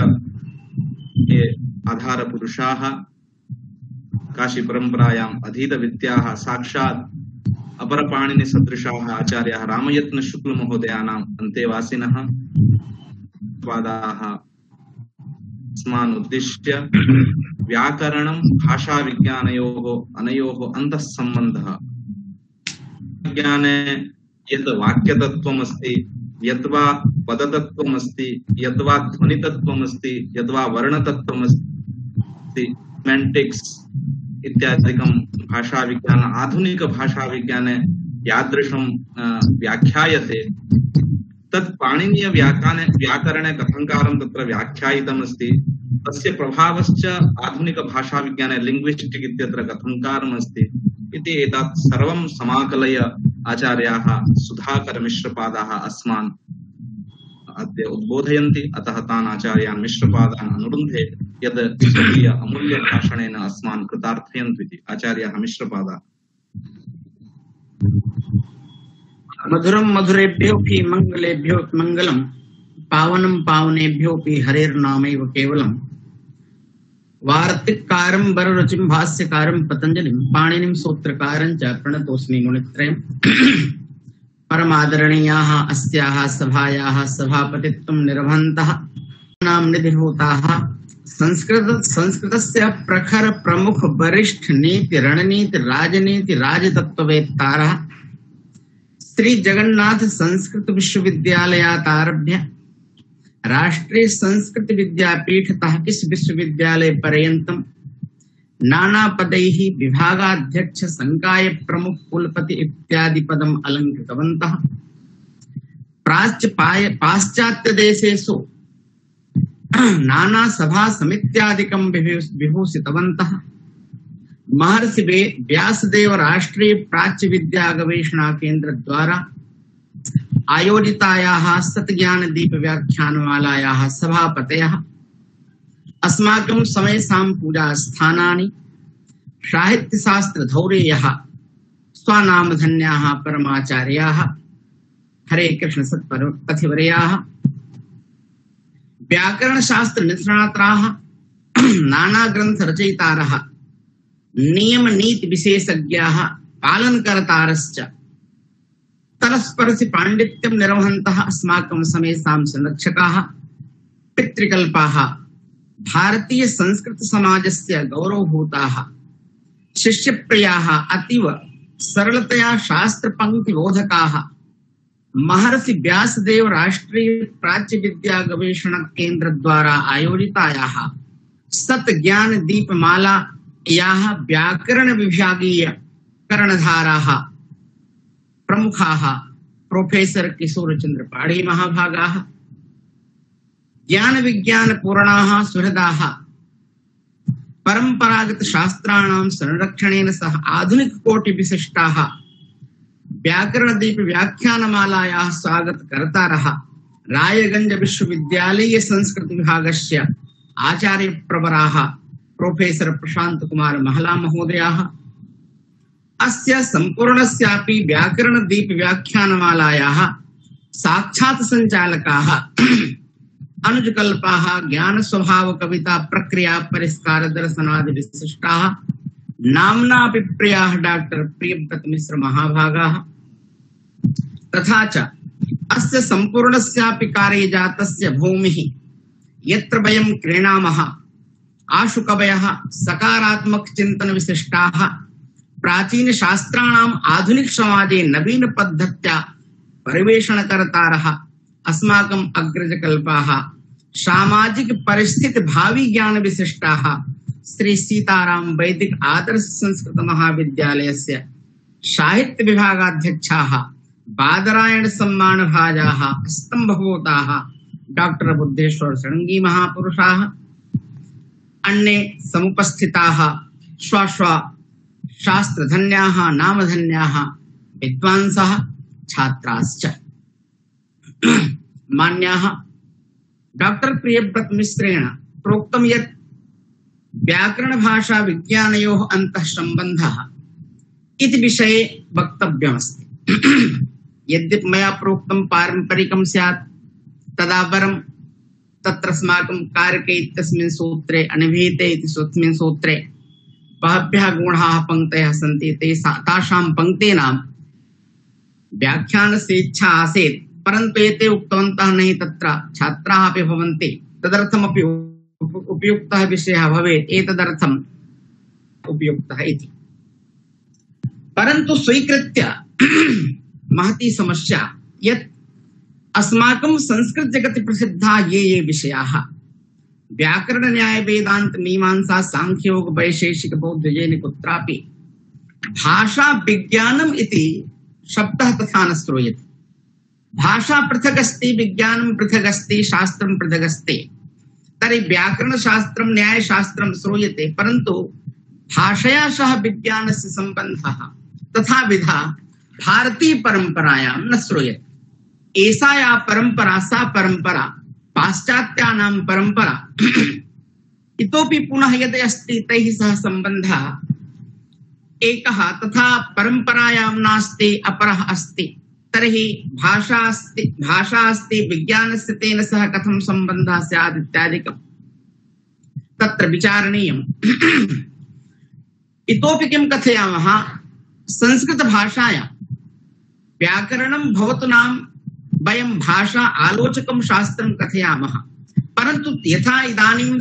ये आधारपुरुषाः काशी परम्परायाम् अधीतविद्याः साक्षात् अपरपाणिनि सदृशाः आचार्याः रामयत्न शुक्ल महोदयानाम् अन्तेवासिनः पादाः अस्मान् उद्दिश्य व्याकरणं भाषा विज्ञानयोः अनयोः अन्तः सम्बन्धः, विज्ञाने यत् वाक्यतत्त्वमस्ति, यद्वा पदतत्त्वमस्ति, यद्वा ध्वनितत्त्वमस्ति, यद्वा वर्णतत्त्वमस्ति, सेमेंटिक्स इत्यादिकं भाषा विज्ञान आधुनिक भाषा विज्ञाने यादृशं व्याख्यायते तत् पाणिनीय व्याकरणे कथंकारं तत्र व्याख्यायितमस्ति, तस्य प्रभावश्च आधुनिक भाषा विज्ञाने लिंग्विस्टिक् इत्यत्र कथंकारम् अस्ति इति एतत् सर्वं समाकलय आचार्याः सुधाकर मिश्रपादाः अस्मान् अद्य उद्बोधयन्ति। अतः तान् आचार्यान् मिश्रपादान् अनुरुन्धे यद् स्वकीय अमूल्य भाषणेन अस्मान् कृतार्थयन्तु इति। आचार्याः मिश्रपादाः। मधुरं मधुरेभ्योऽपि मंगलेभ्योऽपि मंगलम, पावनं पावनेभ्योऽपि हरेर्नामैव केवलम्। वार्तिककारं वररुचिं भाष्यकारं पतंजलिं पाणिनिं सूत्रकारं च प्रणतोऽस्मि मुनित्रयम्। परमादरणीयाः अस्याः सभायाः सभापतित्वं निर्वहन्तः नाम निधिभूताः संस्कृतस्य प्रखर प्रमुख वरिष्ठ नीति रणनीति राजनीति राजतत्ववेत्तारः श्री जगन्नाथ संस्कृत विश्वविद्यालयात् आरभ्य राष्ट्रीय संस्कृत विद्यापीठतः किस विश्वविद्यालय पर्यन्तं नाना पदैः विभागाध्यक्ष संकाय प्रमुख कुलपति इत्यादि पदम् अलंकृतवन्तः। पाश्चात्य देशेषु नाना सभा समित्यादिकं विभूषितवन्तः। महर्षि व्यासदेव राष्ट्रीय प्राच्य विद्या गवेषणा केंद्र द्वारा आयोजितायाः सतज्ञान दीप व्याख्यानमालायाः सभापतयः अस्माकं समेषां पूजा स्थानानि साहित्य शास्त्र धौरेयः स्वनामधन्याः परमाचार्याः हरे कृष्ण सत्पथिवर्याः व्याकरण शास्त्र निष्णाताः नाना ग्रंथ रचयितारः नियम नीति विशेषज्ञाः पालनकर्तारश्च तरस्परसि पाण्डित्यं निर्वहन्तः अस्माकं समेषां संरक्षकाः पितृकल्पाः भारतीय संस्कृत समाजस्य गौरवभूताः शिष्यप्रियाः अतीव सरलतया शास्त्र पंक्ति बोधकाः महर्षि व्यासदेव राष्ट्रीय प्राच्य विद्या गवेषणा केंद्र द्वारा आयोजितायाः सत ज्ञान दीपमाला याः व्याकरण विभागीय कर्णधाराः प्रमुखाः प्रोफेसर किशोर चंद्र पाढ़ी महाभागाः ज्ञान विज्ञान पूर्णाः सुहृदाः परंपरागत शास्त्राणां संरक्षणेन सह आधुनिक कोटि विशिष्टाः व्याकरण दीप व्याख्यानमालायाः स्वागतकर्तारः रायगंज विश्वविद्यालय संस्कृत विभागस्य आचार्य प्रवराः प्रोफेसर प्रशांत कुमार महला महोदयाः अस्य संपूर्णस्यापि व्याकरण दीप व्याख्यानमालायाः साक्षात् संचालकाः अनुजकल्पाः ज्ञान स्वभाव कविता प्रक्रिया परिष्कार दर्शनादि विशिष्टाः नाम्नापि प्रियाः डॉक्टर प्रियव्रत मिश्र महाभागाः तथा च अस्य संपूर्णस्यापि कार्यजातस्य भूमिः यत्र वयं क्रीणामः आशु कवयः सकारात्मक चिंतन विशिष्टाः प्राचीन शास्त्राणाम् आधुनिक समाजे नवीन पद्धत्या परिवेषणकर्तारः अस्माकम् अग्रजकल्पाः सामाजिक परिस्थिति भावी ज्ञान विशिष्टाः श्री सीताराम वैदिक आदर्श संस्कृत महाविद्यालयस्य साहित्य विभागाध्यक्षाः बादरायण सम्मान भाजाः स्तंभभूताः डॉक्टर बुद्धेश्वर षडंगी महापुरुषाः अन्ये समुपस्थिताः स्वस्व शास्त्रधन्याः नामधन्याः विद्वांसः छात्राश्च मान्याः डॉक्टर प्रियव्रत मिश्रेण प्रोक्तं यत् व्याकरण भाषा विज्ञानयोः अन्तः सम्बन्धः इति विषये वक्तव्यमस्ति। यद्यपि मया प्रोक्तं पारम्परिकं स्यात् तदा परं तत्र अस्माकं कारके इत्यस्मिन् सूत्रे अनिभीते इति स्वस्मिन् सूत्रे बहभ्यः गुणाः पङ्क्तयः सन्ति तासां पङ्क्तीनां व्याख्यानस्य इच्छा आसीत् परन्तु एते उक्तवन्तः नहि तत्र छात्राः अपि भवन्ति तदर्थमपि उपयुक्तः विषयः भवेत् एतदर्थम् उपयुक्तः इति परन्तु स्वीकृत्य महती समस्या यत् अस्माकं संस्कृत जगति प्रसिद्धा ये विषयाः व्याकरण न्याय वेदांत मीमांसा सांख्य योग वैशेषिक बौद्ध जैन कुत्रापि भाषा विज्ञानम् इति शब्दः तथा न श्रूयते। भाषा पृथक् अस्ति विज्ञानं पृथक् अस्ति शास्त्रं पृथक् अस्ति तर्हि व्याकरण शास्त्रं न्याय शास्त्रं श्रूयते परन्तु भाषया सह विज्ञानस्य सम्बन्धः तथाविधा भारतीय परंपरायां न श्रूयते। एषा या परंपरा सा परंपरा पाश्चात्यानां परंपरा इतोपि पुनः यद् अस्ति तैः सह सम्बन्धः एकः तथा परंपरायां नास्ति अपरः अस्ति तर्हि भाषा अस्ति विज्ञानस्य तेन सह कथं सम्बन्धः स्यात् इत्यादिकं तत्र विचारणीयम्। इतोपि किं कथयामः संस्कृत भाषायां व्याकरणं भवतु नाम वयं भाषा आलोचकं शास्त्रं कथयामः परन्तु यथा इदानीं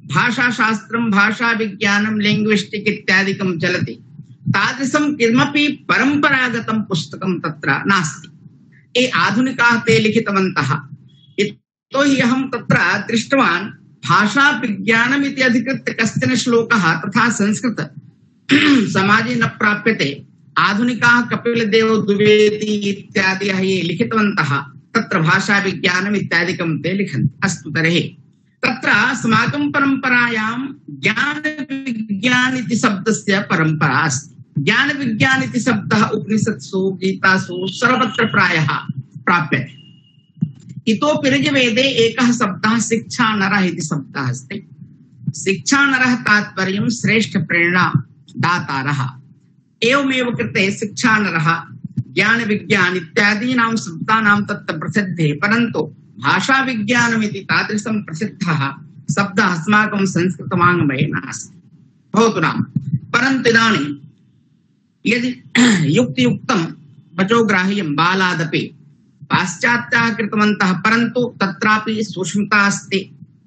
भाषाशास्त्रं भाषा विज्ञानं लिंग्विस्टिक् इत्यादिकं चलति तादृशं किमपि परंपरागतं पुस्तकं तत्र नास्ति। ये आधुनिकाः ते लिखितवन्तः यतोहि अहं तत्र दृष्टवान् भाषा विज्ञानम् इति अधिकृत्य कश्चन श्लोकः तथा संस्कृत समाजे न प्राप्यते। आधुनिकाः कपिलदेव द्विवेदी इत्यादयः ये लिखितवन्तः तत्र भाषा विज्ञानम् इत्यादिकं ते लिखन्ति। अस्तु तर्हि तत्र अस्माकं परम्परायां ज्ञान विज्ञान इति शब्दस्य परम्परा अस्ति। ज्ञान विज्ञान इति शब्दः उपनिषत्सु गीतासु सर्वत्र प्रायः प्राप्यते। इतोपि ऋग्वेदे एकः शब्दः शिक्षा नरः इति शब्दः अस्ति। शिक्षा नरः तात्पर्यं श्रेष्ठ प्रेरणा दातारः। एवमेव कृते शिक्षा नरः ज्ञान विज्ञान इत्यादीनां शब्दानां तत्र प्रसिद्धे, परन्तु भाषा विज्ञानमिति तादृशं प्रसिद्धः शब्दः अस्माकं संस्कृतवाङ्मये नास्ति। भवतु नाम, परन्तु इदानीं यदि युक्तियुक्तं वचोग्राह्यं बालादपि पाश्चात्याः कृतवन्तः, परन्तु तत्रापि सूक्ष्मता अस्ति,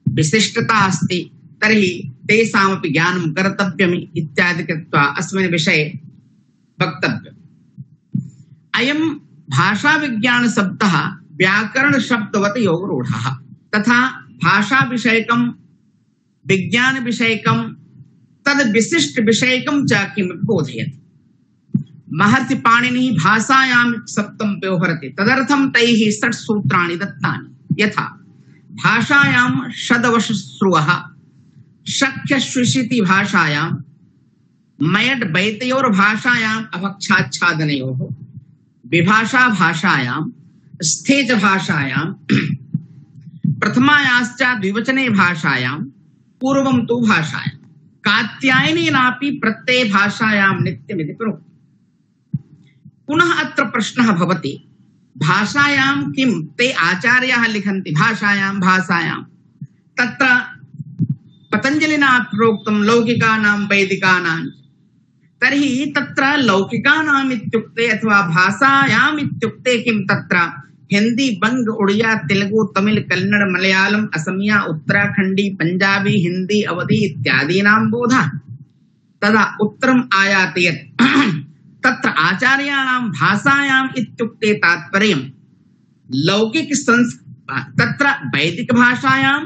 विशिष्टता अस्ति, तर्हि तेषामपि ज्ञानं कर्तव्यम् इत्यादि कृत्वा अस्मिन् विषये वक्तव्यम्। अयं भाषा विज्ञान शब्दः व्याकरण शब्दवत् योगरूढः, तथा भाषा विषयकं विज्ञान विषयकं तद् विशिष्ट विषयकं च किमपि बोधयति। महर्षि पाणिनिः भाषायां शब्दं व्यवहरति, तदर्थं तैः षट् सूत्राणि दत्तानि। यथा भाषायां षदवश्रुवः, शक्यश्विषिति भाषायां, मयड् बैतयोर् भाषायाम् अभक्षाच्छादनयोः, विभाषा भाषायां, स्थेज भाषायां, प्रथमायाश्च द्विवचने भाषायां, पूर्वं तु भाषायां, कात्यायनेनापि प्रत्यये भाषायां नित्यमिति प्रोक्तम्। पुनः अत्र प्रश्नः भवति, भाषायां किं ते आचार्याः लिखन्ति भाषायां, तत्र पतञ्जलिना प्रोक्तं लौकिकानां वैदिकानां, तर्हि तत्र लौकिकानाम् इत्युक्ते अथवा भाषायाम् इत्युक्ते किं? तत्र हिंदी, बंग, उड़िया, तेलुगु, तमिल, कन्नड़, मलयालम, असमिया, उत्तराखंडी, पंजाबी, हिंदी, अवधी इत्यादीनां बोधः। तदा उत्तरम् आयाति यत् तत्र आचार्याणां भाषायाम् इत्युक्ते तात्पर्यं लौकिक तत्र वैदिक भाषायां,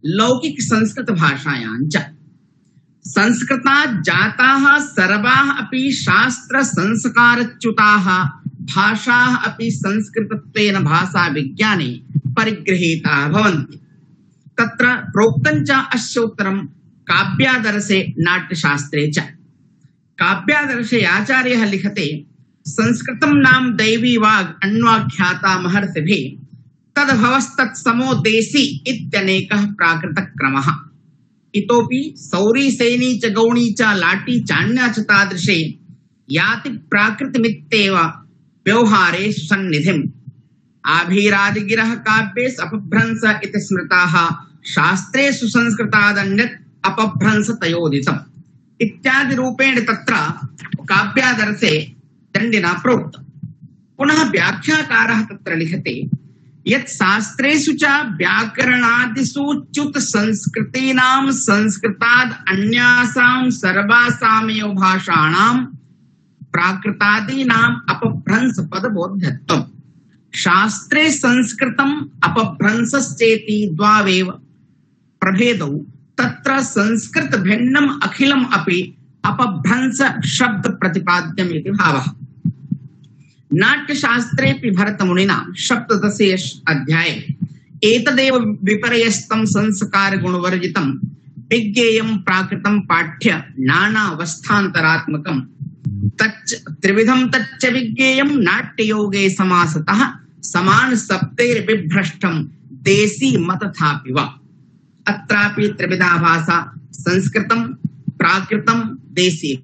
लौकिक संस्कृत भाषायां च। संस्कृतात् जाताः सर्वाः अपि शास्त्र संस्कारच्युताः भाषाः अपि संस्कृतत्वेन भाषा विज्ञाने परिगृहीताः भवन्ति। तत्र प्रोक्तं च अस्य उत्तरं काव्यादर्शे नाट्यशास्त्रे च। काव्यादर्शे आचार्यः लिखते, संस्कृतं नाम दैवी वाग् अन्वाख्याता महर्षिभिः, तद्भवस्तत्समो देशी इत्यनेकः प्राकृतक्रमः। इतोपि सौरी, सेनी च गौणी च लाटी चान्या च तादृशे याति प्राकृतमित्येव व्यवहारे सन्निधिम्। आभीरादिगिरः काव्येषु अपभ्रंश इति स्मृताः, शास्त्रेषु संस्कृतादन्यत् अपभ्रंश तयोदितम् इत्यादि रूपेण तत्र काव्यादर्शे दण्डिना प्रोक्तम्। पुनः व्याख्याकारः तत्र लिखते यत् शास्त्रेषु च व्याकरणादिषु च्युत संस्कृतीनां संस्कृताद् अन्यासां सर्वासामेव भाषाणां प्राकृतादीनाम् अपभ्रंश पदबोध्यत्वम्। शास्त्रे संस्कृतम् अपभ्रंशश्चेति द्वावेव प्रभेदौ, तत्र संस्कृत भिन्नम् अखिलम् अपि अपभ्रंश शब्द प्रतिपाद्यम् इति भावः। नाट्यशास्त्रेऽपि भरतमुनिना सप्तदशे अध्याये एतदेव विपर्यस्तं संस्कार गुणवर्जितं विज्ञेयं प्राकृतं पाठ्य नानावस्थान्तरात्मकं तच्च त्रिविधं तच्च विज्ञेयं नाट्ययोगे समासतः समान सप्तैर्विभ्रष्टं देशी मतथापि वा। अत्रापि त्रिविधा भाषा संस्कृतं प्राकृतं देशी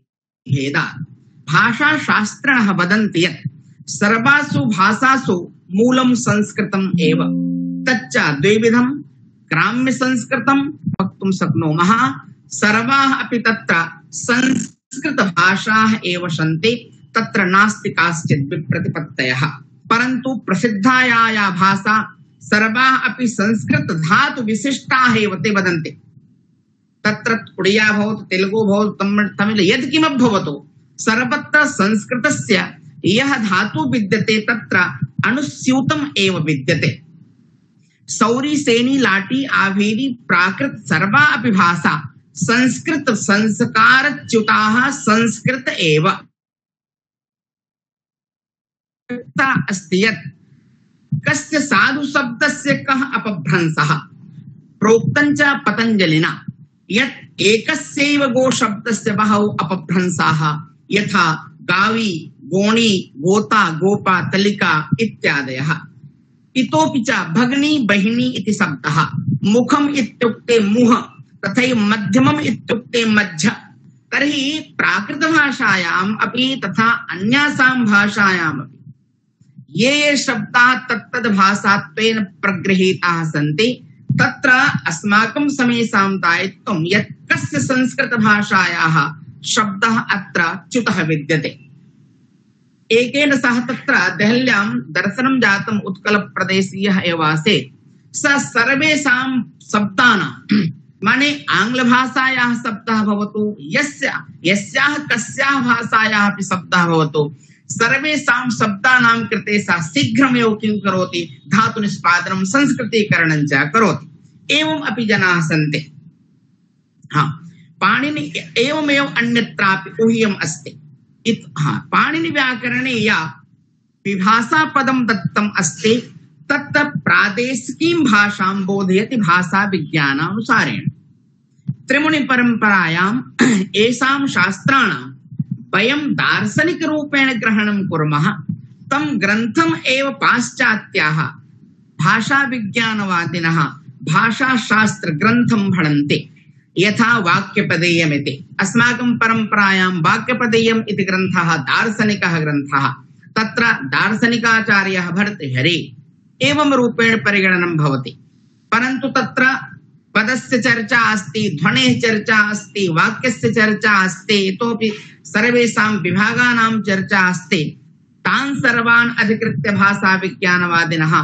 भेदात्। भाषा शास्त्रिणः वदन्ति यत् सर्वासु भाषासु मूलं संस्कृतम् एव, तच्च द्विविधं ग्राम्य संस्कृतं वक्तुं शक्नुमः। सर्वाः अपि तत्र संस्कृत भाषाः एव सन्ति, तत्र नास्ति काश्चित् विप्रतिपत्तयः। परन्तु प्रसिद्धा या भाषा सर्वाः अपि संस्कृत धातु विशिष्टाः एव ते वदन्ति। तत्र उड़िया भवतु, तेलुगु भवतु, तमिल यत्किमपि भवतु, सर्वत्र संस्कृतस्य यः धातु विद्यते तत्र अनुस्यूतम् एव विद्यते। सौरी, सेनी, लाटी, आभीरी, प्राकृत सर्वा अपि भाषा संस्कृत संस्कारच्युताः संस्कृत एव। अस्ति यत् कस्य साधु शब्दस्य कः अपभ्रंशः प्रोक्तं च पतञ्जलिना यत् एकस्यैव गो शब्दस्य बहवो अपभ्रंशाः यथा गावी गोणी गोता गोपा तलिका इत्यादयः। इतोपि च भगिनी बहिनी इति शब्दः मुखम् इत्युक्ते मुह तथैव मध्यमम् इत्युक्ते मध्य। तर्हि प्राकृतभाषायाम् अपि तथा अन्यासां भाषायाम् अपि ये शब्दाः तत्तद् भाषात्वेन प्रगृहीताः सन्ति तत्र अस्माकं समेषां दायित्वं यत् कस्य संस्कृतभाषायाः शब्दः अत्र च्युतः विद्यते। एकेन सह तत्र देहल्यां दर्शनं जातम् उत्कलप्रदेशीयः एव आसीत्। स सर्वेषां शब्दानां माने आङ्ग्लभाषायाः शब्दः भवतु यस्याः कस्याः भाषायाः अपि शब्दः भवतु सर्वेषां शब्दानां कृते सा शीघ्रमेव किं करोति धातुनिष्पादनं संस्कृतीकरणं च करोति। एवम् अपि जनाः सन्ति। पाणिनि एवमेव अन्यत्रापि ऊह्यम् अस्ति। पाणिनि व्याकरणे या विभाषा पदं दत्तम् अस्ति तत् प्रादेशिकीं भाषां बोधयति भाषा विज्ञानानुसारेण। त्रिमुनि परंपरायाम् एषां शास्त्राणां वयं दार्शनिक रूपेण ग्रहणं कुर्मः। तं ग्रन्थम् एव पाश्चात्याः भाषा विज्ञानवादिनः भाषाशास्त्र ग्रन्थं भणन्ति यथा वाक्यपदेयमिति। अस्माकं परंपरायां वाक्यपदेयम् इति ग्रन्थः दार्शनिकः ग्रन्थः। तत्र दार्शनिकाचार्यः भर्तृहरिः एवं रूपेण परिगणनं भवति। परन्तु तत्र पदस्य चर्चा अस्ति, ध्वनेः चर्चा अस्ति, वाक्यस्य चर्चा अस्ति, इतोपि सर्वेषां विभागानां चर्चा अस्ति। तान् सर्वान् अधिकृत्य भाषा विज्ञानवादिनः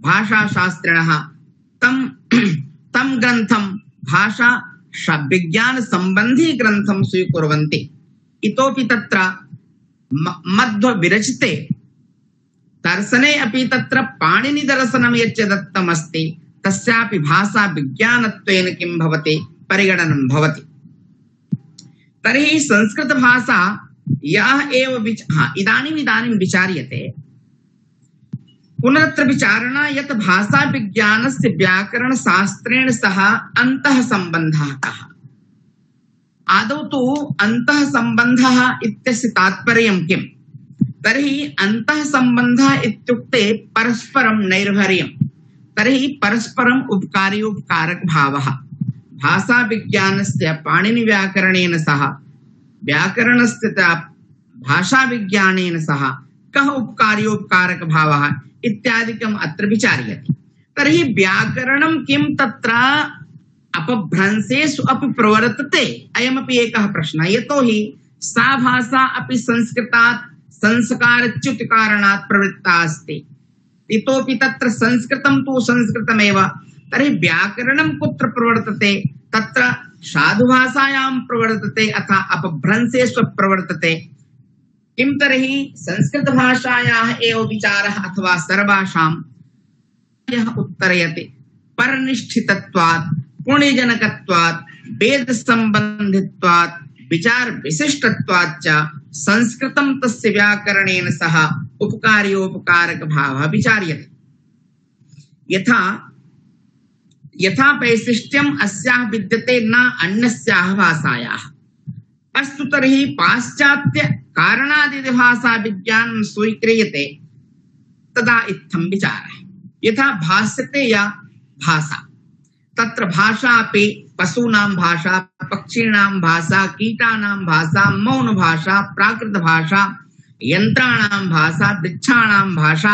भाषाशास्त्रिणः तं ग्रन्थं भाषा विज्ञान संबंधी ग्रंथं स्वीकुर्वन्ति। इतोपि तत्र मध्व विरचिते दर्शने अपि तत्र पाणिनि दर्शनं यच्च दत्तमस्ति तस्यापि भाषा विज्ञानत्वेन किं भवति परिगणनं भवति। तर्हि संस्कृत भाषा यः एव इदानीं विचार्यते पुनरत्र विचारणा यत् भाषा विज्ञानस्य व्याकरण शास्त्रेण सह अन्तः सम्बन्धः कः। आदौ तु अन्तः सम्बन्धः इत्यस्य तात्पर्यं किम्? तर्हि अन्तः सम्बन्धः इत्युक्ते परस्परं नैर्भर्यं। तर्हि परस्परम् उपकारी उपकारक भावः। भाषा विज्ञानस्य पाणिनि व्याकरणेन सह व्याकरणस्य भाषा विज्ञानेन सह कः उपकारी उपकारक भावः इत्यादिकम् अत्र विचार्यते। तर्हि व्याकरणं किं तत्र अपभ्रंशेषु अपि प्रवर्तते? अयमपि एकः प्रश्नः। यतोहि सा भाषा अपि संस्कृतात् संस्कारच्युत कारणात् प्रवृत्ता अस्ति। इतोपि तत्र संस्कृतं तु संस्कृतमेव। तर्हि व्याकरणं कुत्र प्रवर्तते? तत्र साधुभाषायां प्रवर्तते अथवा अपभ्रंशेषु प्रवर्तते। किं तर्हि संस्कृत भाषायाः एव विचारः अथवा सर्वासां यः उत्तरयति परनिष्ठितत्वात् पुण्यजनकत्वात् वेद संबंधित्वात् विचार विशिष्टत्वात् च संस्कृतं तस्य व्याकरणेन सह उपकार्योपकारक भावः विचार्यते। यथा वैशिष्ट्यम् अस्याः विद्यते न अन्यस्याः भाषायाः। अस्तु तर्हि पाश्चात्य कारणादि भाषा विज्ञानं स्वीक्रियते तदा इत्थं विचारः। यथा भाष्यते या भाषा तत्र भाषा अपि पशूनां भाषा, पक्षीणां भाषा, कीटानां भाषा, मौन भाषा, प्राकृत भाषा, यंत्राणां भाषा, वृक्षाणां भाषा,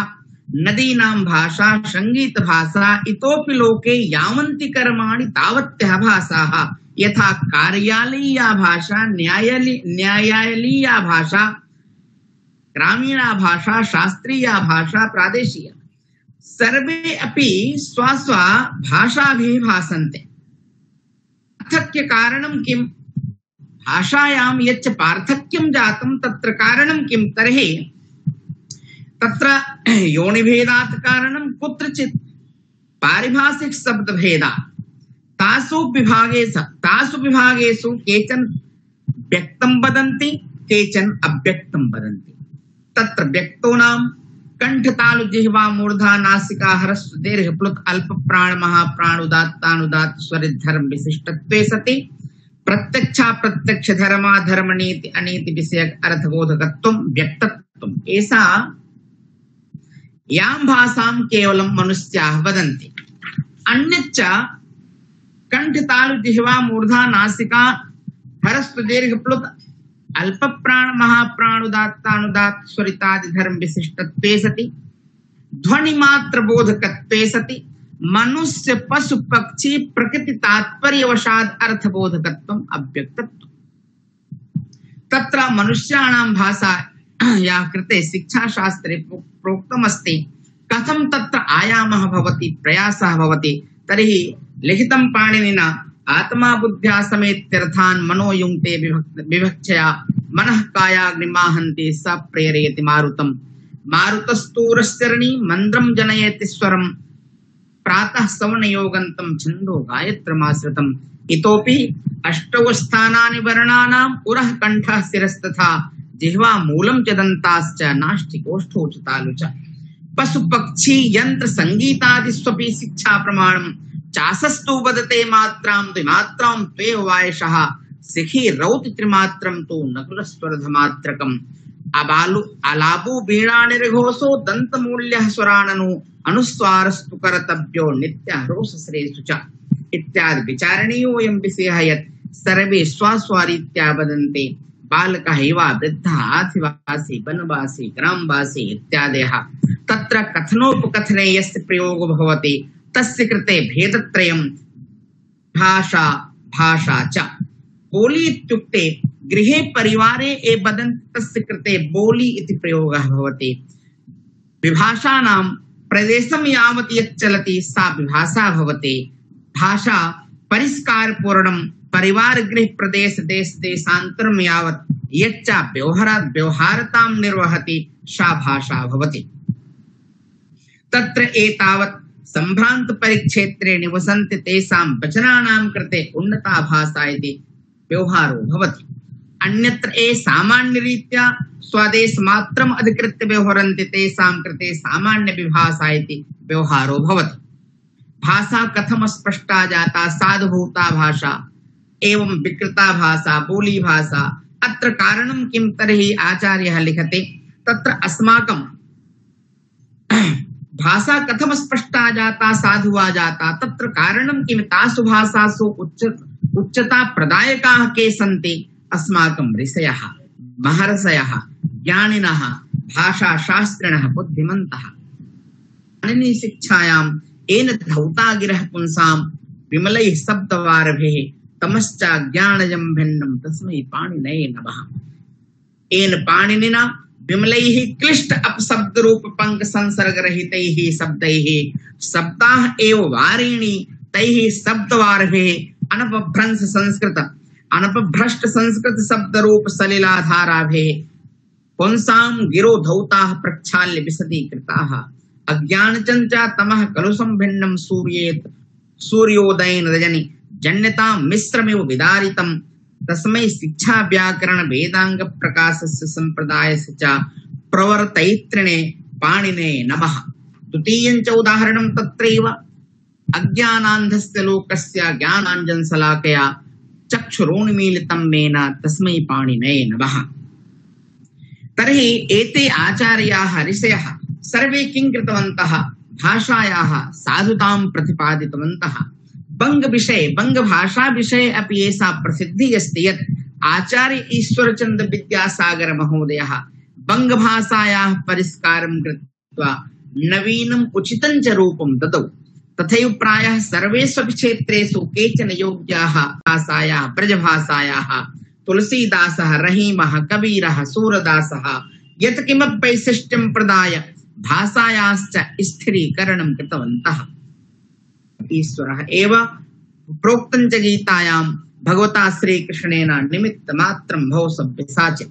नदीनां भाषा, संगीत भाषा, इतोपि लोके यावन्ति कर्माणि तावत्यः भाषाः। यथा कार्यालयीया भाषा, न्यायालयीया भाषा, ग्रामीणा भाषा, शास्त्रीया भाषा, प्रादेशीया, सर्वे अपि स्वस्व भाषाभिः भाषन्ते। पार्थक्य कारणं किम्? भाषायां यच्च पार्थक्यं जातं तत्र कारणं किं? तर्हि तत्र योनिभेदात् कारणं कुत्रचित् पारिभाषिक शब्दभेदात्। तासु विभागेषु केचन व्यक्तं वदन्ति, केचन अव्यक्तं वदन्ति। तत्र व्यक्तोनां कंठ तालु जिह्वा मूर्धा नासिका ह्रस्व दीर्घ प्लुत अल्प प्राण महाप्राण उदात्तानुदात्त स्वरित धर्म विशिष्टत्वे सति प्रत्यक्षा प्रत्यक्ष धर्मा धर्म नीति अनीति विषयक अर्थबोधकत्वं व्यक्तत्वम् ऐसा यां भाषां केवलं मनुष्याः वदन्ति। अन्यच्च कंठ तालु जिह्वा मूर्धा नासिका ह्रस्व दीर्घ प्लुत अल्प प्राण महाप्राण उदात्तानुदात्त स्वरितादि धर्म विशिष्टत्वे सति ध्वनि मात्र बोधकत्वे सति मनुष्य पशु पक्षी प्रकृति तात्पर्यवशाद अर्थबोधकत्वम् अव्यक्तत्वम्। तत्र मनुष्याणां भाषा या कृते शिक्षाशास्त्रे प्रोक्तमस्ति कथं तत्र आयामः भवति प्रयासः भवति तर्हि लिखितं पाणिनिना आत्मा बुद्ध्या समेत्यर्थान् मनो युङ्क्ते विभक्षया मनः कायाग्निमाहन्ति स प्रेरयति मारुतम् मारुतस्तूरश्चरणी मन्द्रं जनयति स्वरम् प्रातः सवनयोगन्तं छन्दो गायत्रमाश्रितम् इतोपि अष्टौ स्थानानि वर्णानाम् उरः कण्ठः शिरस्तथा जिह्वा मूलं च दन्ताश्च नाष्टिकोष्ठौ च तालु च पशु पक्षी यंत्र संगीतादि स्वपि शिक्षा प्रमाणम् चासस्तु वदते मात्रां द्विमात्रां त्वेव वायशः सिखी रौति त्रिमात्रं तु नकुलस्वरधमात्रकम् अबालु अलाबु वीणा निर्घोषो दन्तमूल्यः स्वराननु अनुस्वारस्तु करतव्यो नित्यः रोषश्रेषु च इत्यादि विचारणीयोऽयं विषयः यत् सर्वे स्वस्वरीत्या वदन्ते बालकः वा वृद्धः आदिवासी वनवासी ग्रामवासी इत्यादयः तत्र कथनोपकथने यस्य प्रयोगो भवति तस्य कृते भेदत्रयं भाषा भाषा च बोली इत्युक्ते गृहे परिवारे ये वदन्ति तस्य कृते बोली इति प्रयोगः भवति। विभाषाणां प्रदेशं यावत् यच्चलति सा विभाषा भवति। भाषा परिष्कारपूर्णं परिवार गृह प्रदेश देश देशान्तरं यावत् यच्च व्यवहारतां निर्वहति सा भाषा भवति। तत्र एतावत् सम्भ्रान्त परिक्षेत्रे निवसन्ति तेषां वचनानां कृते उन्नता भाषा इति व्यवहारो भवति। अन्यत्र ये सामान्यरीत्या स्वदेशमात्रम् अधिकृत्य व्यवहरन्ति तेषां कृते सामान्य विभाषा इति व्यवहारो भवति। भाषा कथम स्पष्टा जाता साधुभूता भाषा एवं विकृता भाषा बोली भाषा अत्र कारणं किं तर्हि आचार्यः लिखते तत्र अस्माकं भाषा कथम स्पष्टा जाता साधुवा जाता तत्र कारणं किं तासु भाषासु उच्चता प्रदायकाः के सन्ति अस्माकं ऋषयः महर्षयः ज्ञानिनः भाषाशास्त्रिणः बुद्धिमन्तः। पाणिनि शिक्षायां येन धौता गिरः पुंसां विमलैः शब्दवारभिः तमश्च ज्ञानजं भिन्नं तस्मै पाणिनये नमः। येन पाणिनिना विमलैः क्लिष्ट अपशब्दरूप पंक संसर्गरहितैः शब्दैः शब्दाः एव वारिणी तैः शब्दवारभिः अनपभ्रष्ट संस्कृत शब्दरूप सलिलाधाराभिः पुंसां गिरो धौताः प्रक्षाल्य विशदीकृताः। अज्ञानचञ्चा तमः कलुषं भिन्नं सूर्योदयेन रजनि जन्यतां मिश्रमिव विदारितं तस्मै शिक्षा व्याकरण वेदांग प्रकाशस्य संप्रदायस्य च प्रवर्तयित्रिणे पाणिने नमः। द्वितीयं च उदाहरणं तत्रैव अज्ञानान्धस्य लोकस्य ज्ञानाञ्जनशलाकया चक्षुरोन्मीलितं मेन तस्मै पाणिने नमः। तर्हि एते आचार्याः ऋषयः सर्वे किं कृतवन्तः भाषायाः साधुतां प्रतिपादितवन्तः। बंगभाषा विषये अपि एषा प्रसिद्धिः अस्ति यत् आचार्य ईश्वरचन्द्र विद्यासागर महोदयः बंगभाषायाः परिष्कारं कृत्वा नवीनम् उचितं च रूपं ददौ। तथैव प्रायः सर्वेषु क्षेत्रेषु केचन योग्याः भाषायाः ब्रजभाषायाः तुलसीदासः रहीमः कबीरः सूरदासः यत् किमपि वैशिष्ट्यं प्रदाय भाषायाश्च स्थिरीकरणं कृतवन्तः। ईश्वरः एव प्रोक्तं च गीतायां भगवता श्रीकृष्णेन निमित्तमात्रं भव सव्यसाच।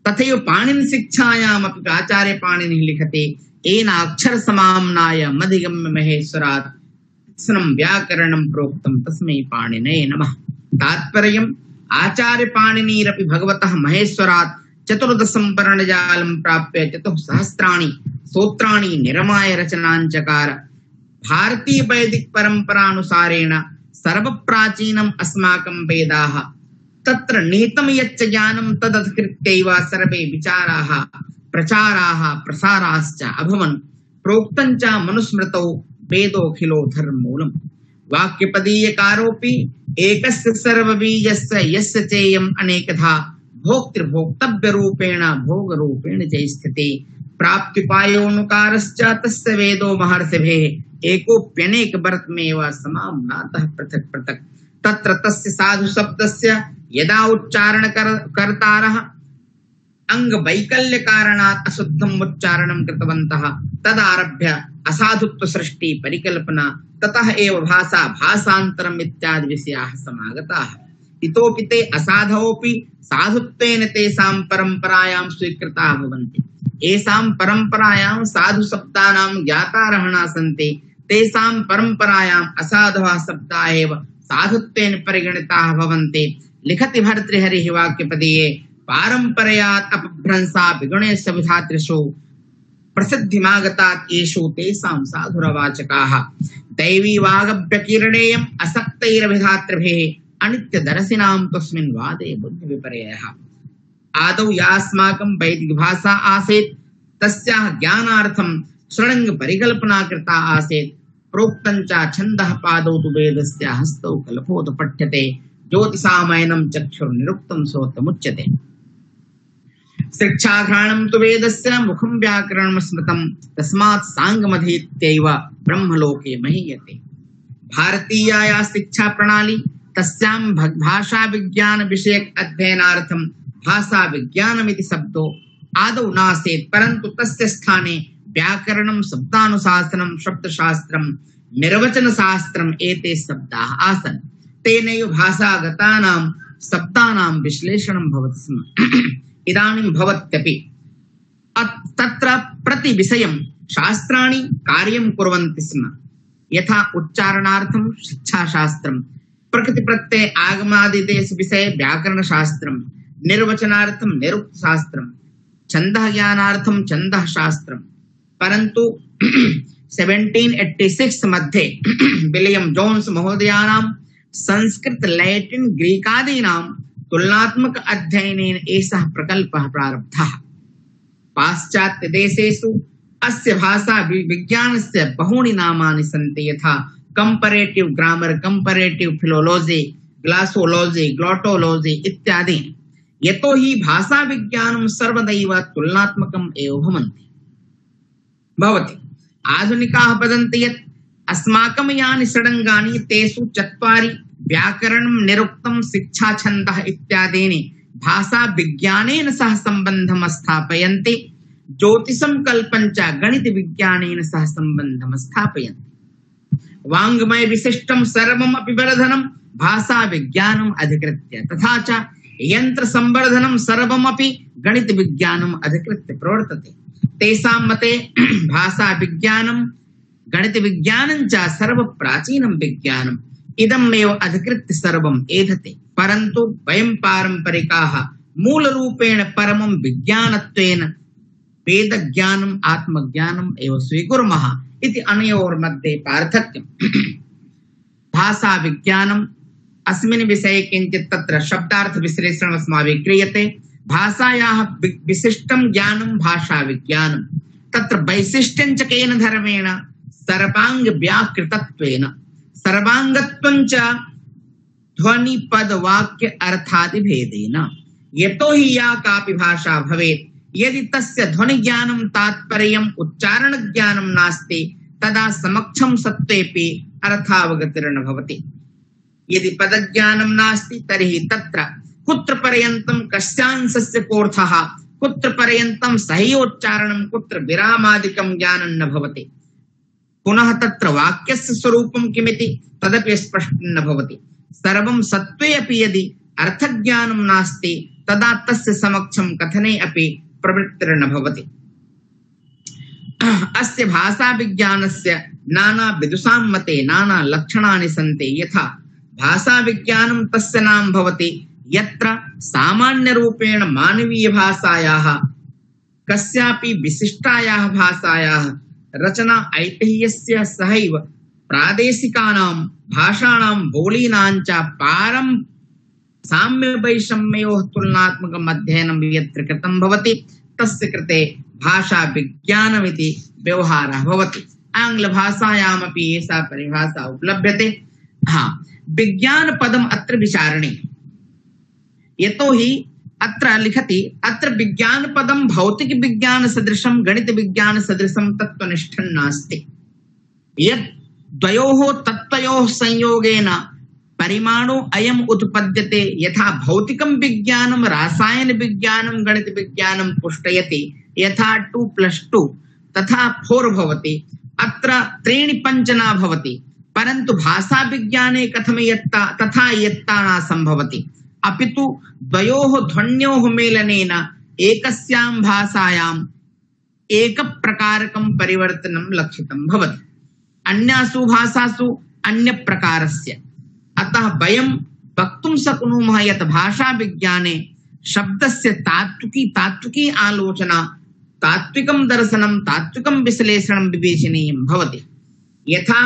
तथैव पाणिनि शिक्षायामपि आचार्य पाणिनिः लिखते येन अक्षर समाम्नाय मधिगम्य महेश्वरात् व्याकरणं प्रोक्तं तस्मै पाणिनये नमः। तात्पर्यम् आचार्य पाणिनिरपि भगवतः महेश्वरात् 14 वर्णजालं प्राप्य 4 सहस्राणि सूत्राणि निरमाय रचनाञ्चकार। भारतीय वैदिक परम्परानुसारेण सर्वप्राचीनम् अस्माकं वेदाः। तत्र निहितं यच्च ज्ञानं तदधिकृत्यैव सर्वे विचाराः प्रचाराः प्रसाराश्च अभवन्। प्रोक्तं च मनुस्मृतौ वेदोऽखिलो धर्ममूलम्। वाक्यपदीयकारोऽपि एकस्य सर्वबीजस्य यस्य चेयम् अनेकधा भोक्तृभोक्तव्यरूपेण भोगरूपेण च स्थिते। प्राप्त्युपायोऽनुकारश्च तस्य वेदो महर्षिभिः एकोऽप्यनेकवर्तमेव समाम्नातः पृथक् पृथक्। तत्र तस्य साधु शब्दस्य यदा उच्चारणकर्तारः अंगवैकल्यकारणात् अशुद्धम् उच्चारणं कृतवन्तः तदारभ्य असाधुत्व सृष्टि परिकल्पना ततः एव भाषा भाषान्तरम् इत्यादि विषयाः समागताः। इतोपि ते असाधवोऽपि साधुत्वेन तेषां परम्परायां स्वीकृताः भवन्ति। एषां परम्परायां साधु शब्दानां ज्ञातारः न सन्ति। तेषां परम्परायाम् असाधवः शब्दाः एव साधुत्वेन परिगणिताः भवन्ति। लिखति भर्तृहरिः वाक्यपदीये पारम्परयात् अपभ्रंशा विगुणेषु विधातृषु प्रसिद्धिमागतात् येषु तेषां साधुरवाचकाः। दैवी वागभ्यकीर्णेयम् असक्तैरभिधातृभिः अनित्यदर्शिनां तस्मिन् वादे बुद्धिविपर्ययः। आदौ यास्माकं वैदिकभाषा आसीत् तस्याः ज्ञानार्थं षडङ्ग परिकल्पना कृता आसीत्। प्रोक्तं च छन्दः पादौ तु वेदस्य हस्तौ कल्पोत पठ्यते ज्योतिषामयनं चक्षुर्निरुक्तं सोतमुच्यते। शिक्षाघ्राणं तु वेदस्य मुखं व्याकरणं स्मृतं तस्मात् साङ्गमधीत्यैव ब्रह्मलोके महीयते। भारतीया शिक्षा प्रणाली तस्यां भाषा विज्ञान विषयक अध्ययनार्थं भाषा विज्ञानमिति शब्दो आदौ नासीत्, परन्तु तस्य स्थाने व्याकरणं शब्दानुशासनं शब्दशास्त्रं निर्वचनशास्त्रम् एते शब्दाः आसन्। तेनैव भाषागतानां शब्दानां विश्लेषणं भवति स्म। इदानीं भवत्यपि तत्र प्रतिविषयं शास्त्राणि कार्यं कुर्वन्ति स्म। यथा उच्चारणार्थं शिक्षाशास्त्रं, प्रकृतिप्रत्यय आगमादिदेश विषये व्याकरणशास्त्रं, निर्वचनार्थं निरुक्तशास्त्रं, छन्दः ज्ञानार्थं छन्दः शास्त्रं। परन्तु 1786 मध्ये विलियम जोन्स महोदयानां संस्कृत लैटिन ग्रीकादीनां तुलनात्मक अध्ययनेन एषः प्रकल्पः प्रारब्धः। पाश्चात्यदेशेषु अस्य भाषा विज्ञानस्य बहूनि नामानि सन्ति, यथा कंपैरेटिव ग्रामर, कंपैरेटिव फिलोलॉजी, ग्लासोलॉजी, ग्लोटोलॉजी इत्यादि। यतो हि भाषा विज्ञानं सर्वदैव तुलनात्मकम् एव भवति। आधुनिकाः वदन्ति यत् अस्माकं यानि षडङ्गानि तेषु 4 व्याकरणं, निरुक्तं, शिक्षा, छन्दः इत्यादीनि भाषा विज्ञानेन सह सम्बन्धं स्थापयन्ति। ज्योतिषं कल्पं च गणित विज्ञानेन सह सम्बन्धं स्थापयन्ति। वाङ्मय विशिष्टं सर्वमपि वर्धनं भाषा विज्ञानम् अधिकृत्य, तथा च यंत्र संवर्धनं सर्वमपि गणित विज्ञानम् अधिकृत्य प्रवर्तते। तेषां मते भाषा विज्ञानं गणित विज्ञानं च सर्वप्राचीनं विज्ञानम् इदमेव अधिकृत्य सर्वम् एधते। परन्तु वयं पारम्परिकाः मूलरूपेण परमं विज्ञानत्वेन वेदज्ञानम् आत्मज्ञानम् एव स्वीकुर्मः इति अनयोर्मध्ये पार्थक्यम्। भाषा विज्ञानम् अस्मिन् विषये किञ्चित् तत्र शब्दार्थ विश्लेषणम् अस्माभिः क्रियते। भाषायाः विशिष्टं ज्ञानं भाषा विज्ञानं। तत्र वैशिष्ट्यं च केन धर्मेण सर्वांग व्याकृतत्वेन, सर्वांगत्वं च ध्वनि पद वाक्य अर्थादि भेदेन। यतो हि या कापि भाषा भवेत्, यदि तस्य ध्वनि ज्ञानं तात्पर्यम् उच्चारण ज्ञानं नास्ति तदा समक्षं सत्त्वेपि अर्थावगतिर्न भवति। यदि पदज्ञानं नास्ति तर्हि तत्र कुत्र पर्यन्तं कस्यांशस्य कोऽर्थः, कुत्र पर्यन्तं सह्योच्चारणं, कुत्र विरामादिकं ज्ञानं न भवति। पुनः तत्र वाक्यस्य स्वरूपं किमिति तदपि स्पष्टं न भवति। सर्वं सत्त्वे अपि यदि अर्थज्ञानं नास्ति तदा तस्य समक्षं कथने अपि प्रवृत्तिर्न भवति। अस्य भाषा विज्ञानस्य नाना विदुषां मते नाना लक्षणानि सन्ति। यथा भाषा विज्ञानं तस्य नाम भवति यत्र सामान्य रूपेण मानवीय भाषायाः कस्यापि विशिष्टायाः भाषायाः रचना ऐतिह्यस्य सहैव प्रादेशिकानां भाषाणां बोलीनां च पारं साम्य वैषम्योः तुलनात्मकम् अध्ययनं यत्र कृतं भवति तस्य कृते भाषा विज्ञानमिति व्यवहारः भवति। आङ्ग्लभाषायामपि एषा परिभाषा उपलभ्यते। विज्ञान पदम् अत्र विचारणीयम्, यतोहि अत्र लिखति अत्र विज्ञान पदं भौतिक विज्ञान सदृशं गणित विज्ञान सदृशं तत्त्वनिष्ठं नास्ति। यत् द्वयोः तत्त्वयोः संयोगेन परिमाणो अयम् उत्पद्यते, यथा भौतिकं विज्ञानं रासायन विज्ञानं गणित विज्ञानं पुष्टयति, यथा 2+2 तथा 4 भवति, अत्र 3-5 न भवति। परन्तु भाषा विज्ञाने कथम यत्ता तथा यत्ता न संभवति, अपितु द्वयोः ध्वन्योः मेलनेन एकस्यां भाषायाम् एक प्रकारकं परिवर्तनं लक्षितं भवति, अन्यासु भाषासु अन्य प्रकारस्य। अतः वयं वक्तुं शक्नुमः यत् भाषा विज्ञाने शब्दस्य तात्विकी आलोचना, तात्विकं दर्शनं, तात्विकं विश्लेषणं विवेचनीयं भवति। यथा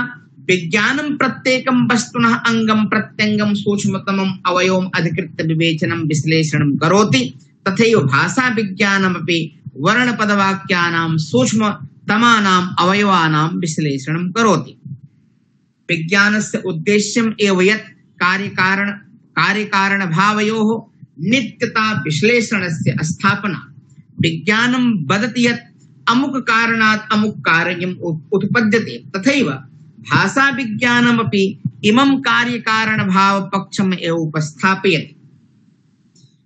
विज्ञानं प्रत्येकं वस्तुनः अंगं प्रत्यंगं सूक्ष्मतमम् अवयवम् अधिकृत्य विवेचनं विश्लेषणं करोति, तथैव भाषा विज्ञानमपि वर्णपदवाक्यानां सूक्ष्मतमानाम् अवयवानां विश्लेषणं करोति। विज्ञानस्य उद्देश्यम् एव यत् कार्यकारणभावयोः नित्यता विश्लेषणस्य स्थापना। विज्ञानं वदति यत् अमुक कारणात् अमुक कार्यम् उत्पद्यते, तथैव भाषा विज्ञानमपि इमं कार्यकारणभावपक्षम् एव उपस्थापयति।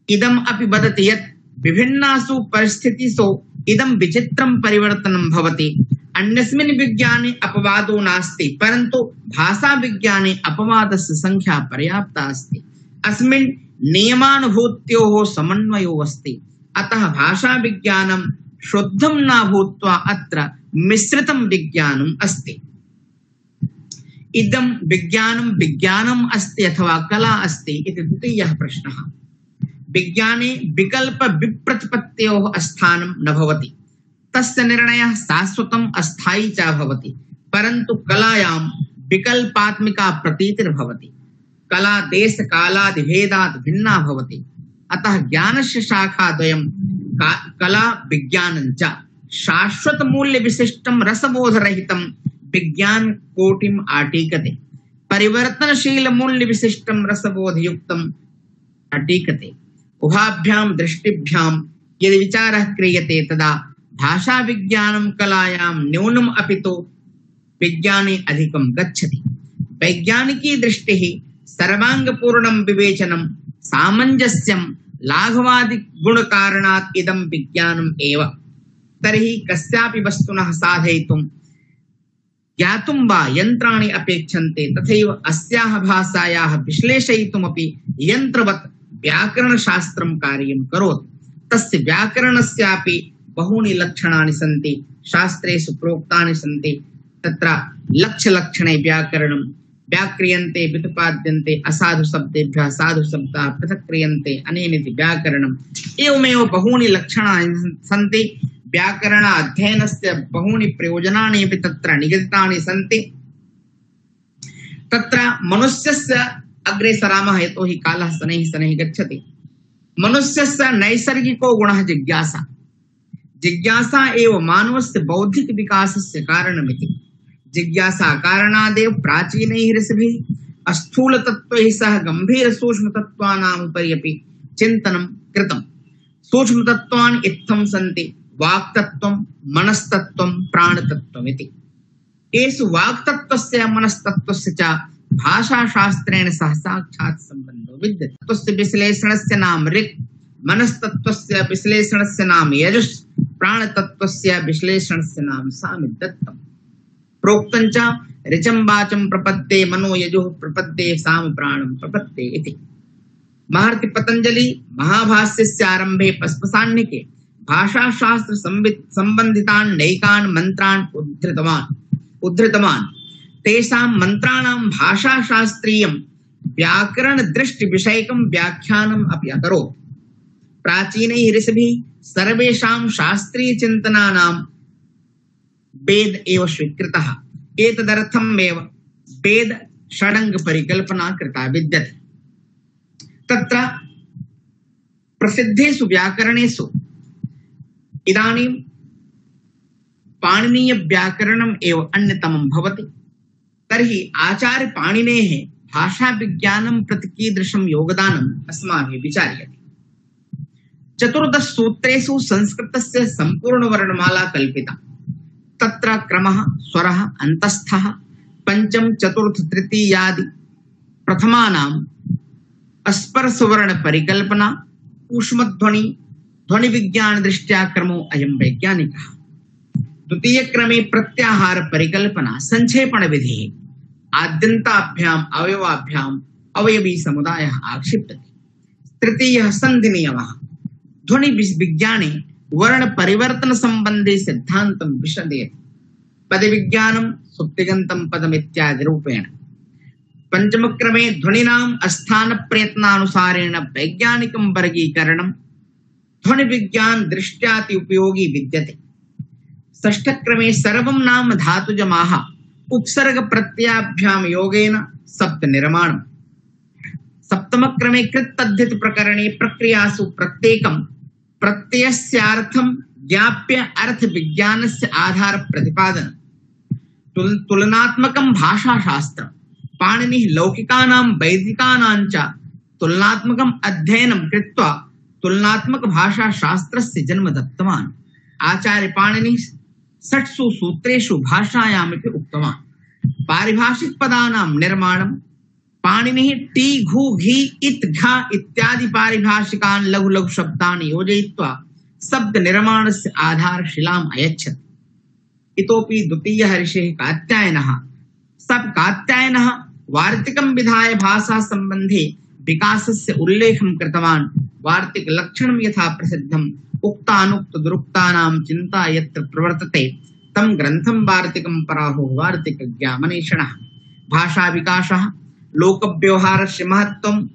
इदम् अपि वदति यत् विभिन्नासु परिस्थितिषु इदं विचित्रं परिवर्तनं भवति। अन्यस्मिन् विज्ञाने अपवादो नास्ति, परन्तु भाषा विज्ञाने अपवादस्य संख्या पर्याप्ता अस्ति। अस्मिन् नियमानुभूत्योः समन्वयो अस्ति। अतः भाषा विज्ञानं शुद्धं न भूत्वा अत्र मिश्रितं विज्ञानम् अस्ति। इदं विज्ञानम् अस्ति अथवा कला अस्ति इति द्वितीयः प्रश्नः। विज्ञाने विकल्प विप्रतिपत्त्योः स्थानं न भवति, तस्य निर्णयः शाश्वतम् अस्थायी च भवति, परन्तु कलायां विकल्पात्मिका प्रतीतिर्भवति। कला देशकालादिभेदात् भिन्ना भवति। अतः ज्ञानस्य शाखाद्वयं कला विज्ञानं च शाश्वत मूल्य विशिष्टं रसबोधरहितं विज्ञान कोटिम् आटीकते, परिवर्तनशील मूल्य विशिष्टं रसबोधयुक्तम् आटीकते। उभाभ्यां दृष्टिभ्यां यदि विचारः क्रियते तदा भाषा विज्ञानं कलायां न्यूनम् अपितु विज्ञाने अधिकं गच्छति। वैज्ञानिकी दृष्टिः सर्वांगपूर्णं विवेचनं सामञ्जस्यं लाघवादि गुणकारणात् इदं विज्ञानम् एव। तर्हि कस्यापि वस्तुनः साधयितुं ज्ञातुं वा यन्त्राणि अपेक्षन्ते, तथैव अस्याः भाषायाः विश्लेषयितुमपि यन्त्रवत् व्याकरणशास्त्रं कार्यं करोति। तस्य व्याकरणस्यापि बहूनि लक्षणानि सन्ति, शास्त्रेषु प्रोक्तानि सन्ति। तत्र लक्ष्यलक्षणे व्याकरणं व्याक्रियन्ते व्युत्पाद्यन्ते असाधु शब्देभ्यः साधु शब्दाः पृथक् क्रियन्ते अनेनेति व्याकरणम्। एवमेव बहूनि लक्षणानि सन्ति। व्याकरण अध्ययनस्य बहूनि प्रयोजनानि अपि तत्र निगदितानि सन्ति। तत्र मनुष्यस्य अग्रे सरामः, यतोहि कालः शनैः गच्छति। मनुष्यस्य नैसर्गिको गुणः जिज्ञासा। जिज्ञासा एव मानवस्य बौद्धिक विकासस्य कारणमिति। जिज्ञासा कारणादेव प्राचीनैः ऋषिभिः स्थूलतत्त्वैः सह गम्भीरसूक्ष्मतत्त्वानाम् उपरि अपि चिन्तनं कृतम्। सूक्ष्मतत्त्वानि इत्थं सन्ति: वाक्तत्वं, मनस्तत्वं, प्राणतत्वमिति। एषु वाक्तत्वस्य मनस्तत्वस्य च भाषाशास्त्रेण सह साक्षात् सम्बन्धो विद्यते। तस्य विश्लेषणस्य नाम ऋक्, मनस्तत्वस्य विश्लेषणस्य नाम यजुः, प्राणतत्वस्य विश्लेषणस्य नाम सामदत्तम्। प्रोक्तं च ऋचं वाचं प्रपद्ये मनो यजुः प्रपद्ये साम प्राणं प्रपद्ये इति। महर्षि पतंजलि महाभाष्यस्य आरंभे पस्पशान्यके भाषाशास्त्र संबंधितान् नैकान् मंत्रान् उद्धृतवान्। तेषां मंत्राणां भाषाशास्त्रीयं व्याकरण दृष्टि विषयकं व्याख्यानम् अपि अकरोत्। प्राचीनैः ऋषिभिः सर्वेषां शास्त्रीय चिन्तनानां वेद एव स्वीकृतः। एतदर्थमेव वेद षडङ्ग परिकल्पना कृता विद्यते। तत्र प्रसिद्धेषु व्याकरणेषु इदानीं पाणिनीय व्याकरणम् एव अन्यतमं भवति। तर्हि आचार्य पाणिनेः भाषा विज्ञानं प्रति कीदृशं योगदानम् अस्माभिः विचार्यते। 14 सूत्रेषु संस्कृतस्य संपूर्ण वर्णमाला कल्पिता। तत्र क्रमः, स्वरः, अन्तस्थः, पंचम, चतुर्थ, तृतीयादि प्रथमानाम् अस्पर्शवर्ण परिकल्पना, ऊष्मध्वनि, ध्वनि विज्ञान दृष्ट्या क्रमो अयं वैज्ञानिकः। द्वितीय क्रमे प्रत्याहार परिकल्पना, संक्षेपण विधिः, आद्यन्ताभ्याम् अवयवाभ्याम् अवयवी समुदायः आक्षिप्यते। तृतीयः संधि नियमः, ध्वनि विज्ञाने वर्ण परिवर्तन संबंधी सिद्धांतं विशदयति। पद विज्ञानं सुप्तिगन्तं पदम् इत्यादि रूपेण। पंचम क्रमे ध्वनिनां स्थान प्रयत्नानुसारेण वैज्ञानिकं वर्गीकरणं ध्वनि विज्ञान दृष्ट्याति उपयोगी विद्यते। षष्ठ क्रमे सर्वं नाम धातुजमाः उपसर्ग प्रत्ययाभ्यां योगेन शब्द निर्माणम्। सप्तम क्रमे कृत तद्धित प्रकरणे प्रक्रियासु प्रत्येकं प्रत्ययस्यार्थं ज्ञाप्य अर्थ विज्ञानस्य आधार प्रतिपादन। तुलनात्मकं भाषाशास्त्रं पाणिनिः लौकिकानां वैदिकानां च तुलनात्मकम् अध्ययनं कृत्वा तुलनात्मक भाषाशास्त्रस्य जन्म दत्तवान्। आचार्य पाणिनिः 6 सूत्रेषु भाषायामपि उक्तवान्। पारिभाषिक पदानां निर्माणं पाणिनिः टी, घु, घी, इत, घा इत्यादि पारिभाषिकान् लघु लघु शब्दान् योजयित्वा शब्द निर्माणस्य आधारशिलाम् अयच्छत्। इतोपि द्वितीयः ऋषिः कात्यायनः। सब कात्यायनः वार्तिकं विधाय भाषा संबन्धे विकासस्य उल्लेखं कृतवान्। वार्तिक लक्षणं यथा प्रसिद्धम् उक्तानुक्त दुरुक्तानां चिन्ता यत्र प्रवर्तते तं ग्रन्थं वार्तिकं पराहुः वार्तिकज्ञामनीषिणः। भाषा विकासः, लोक व्यवहारस्य महत्त्वं,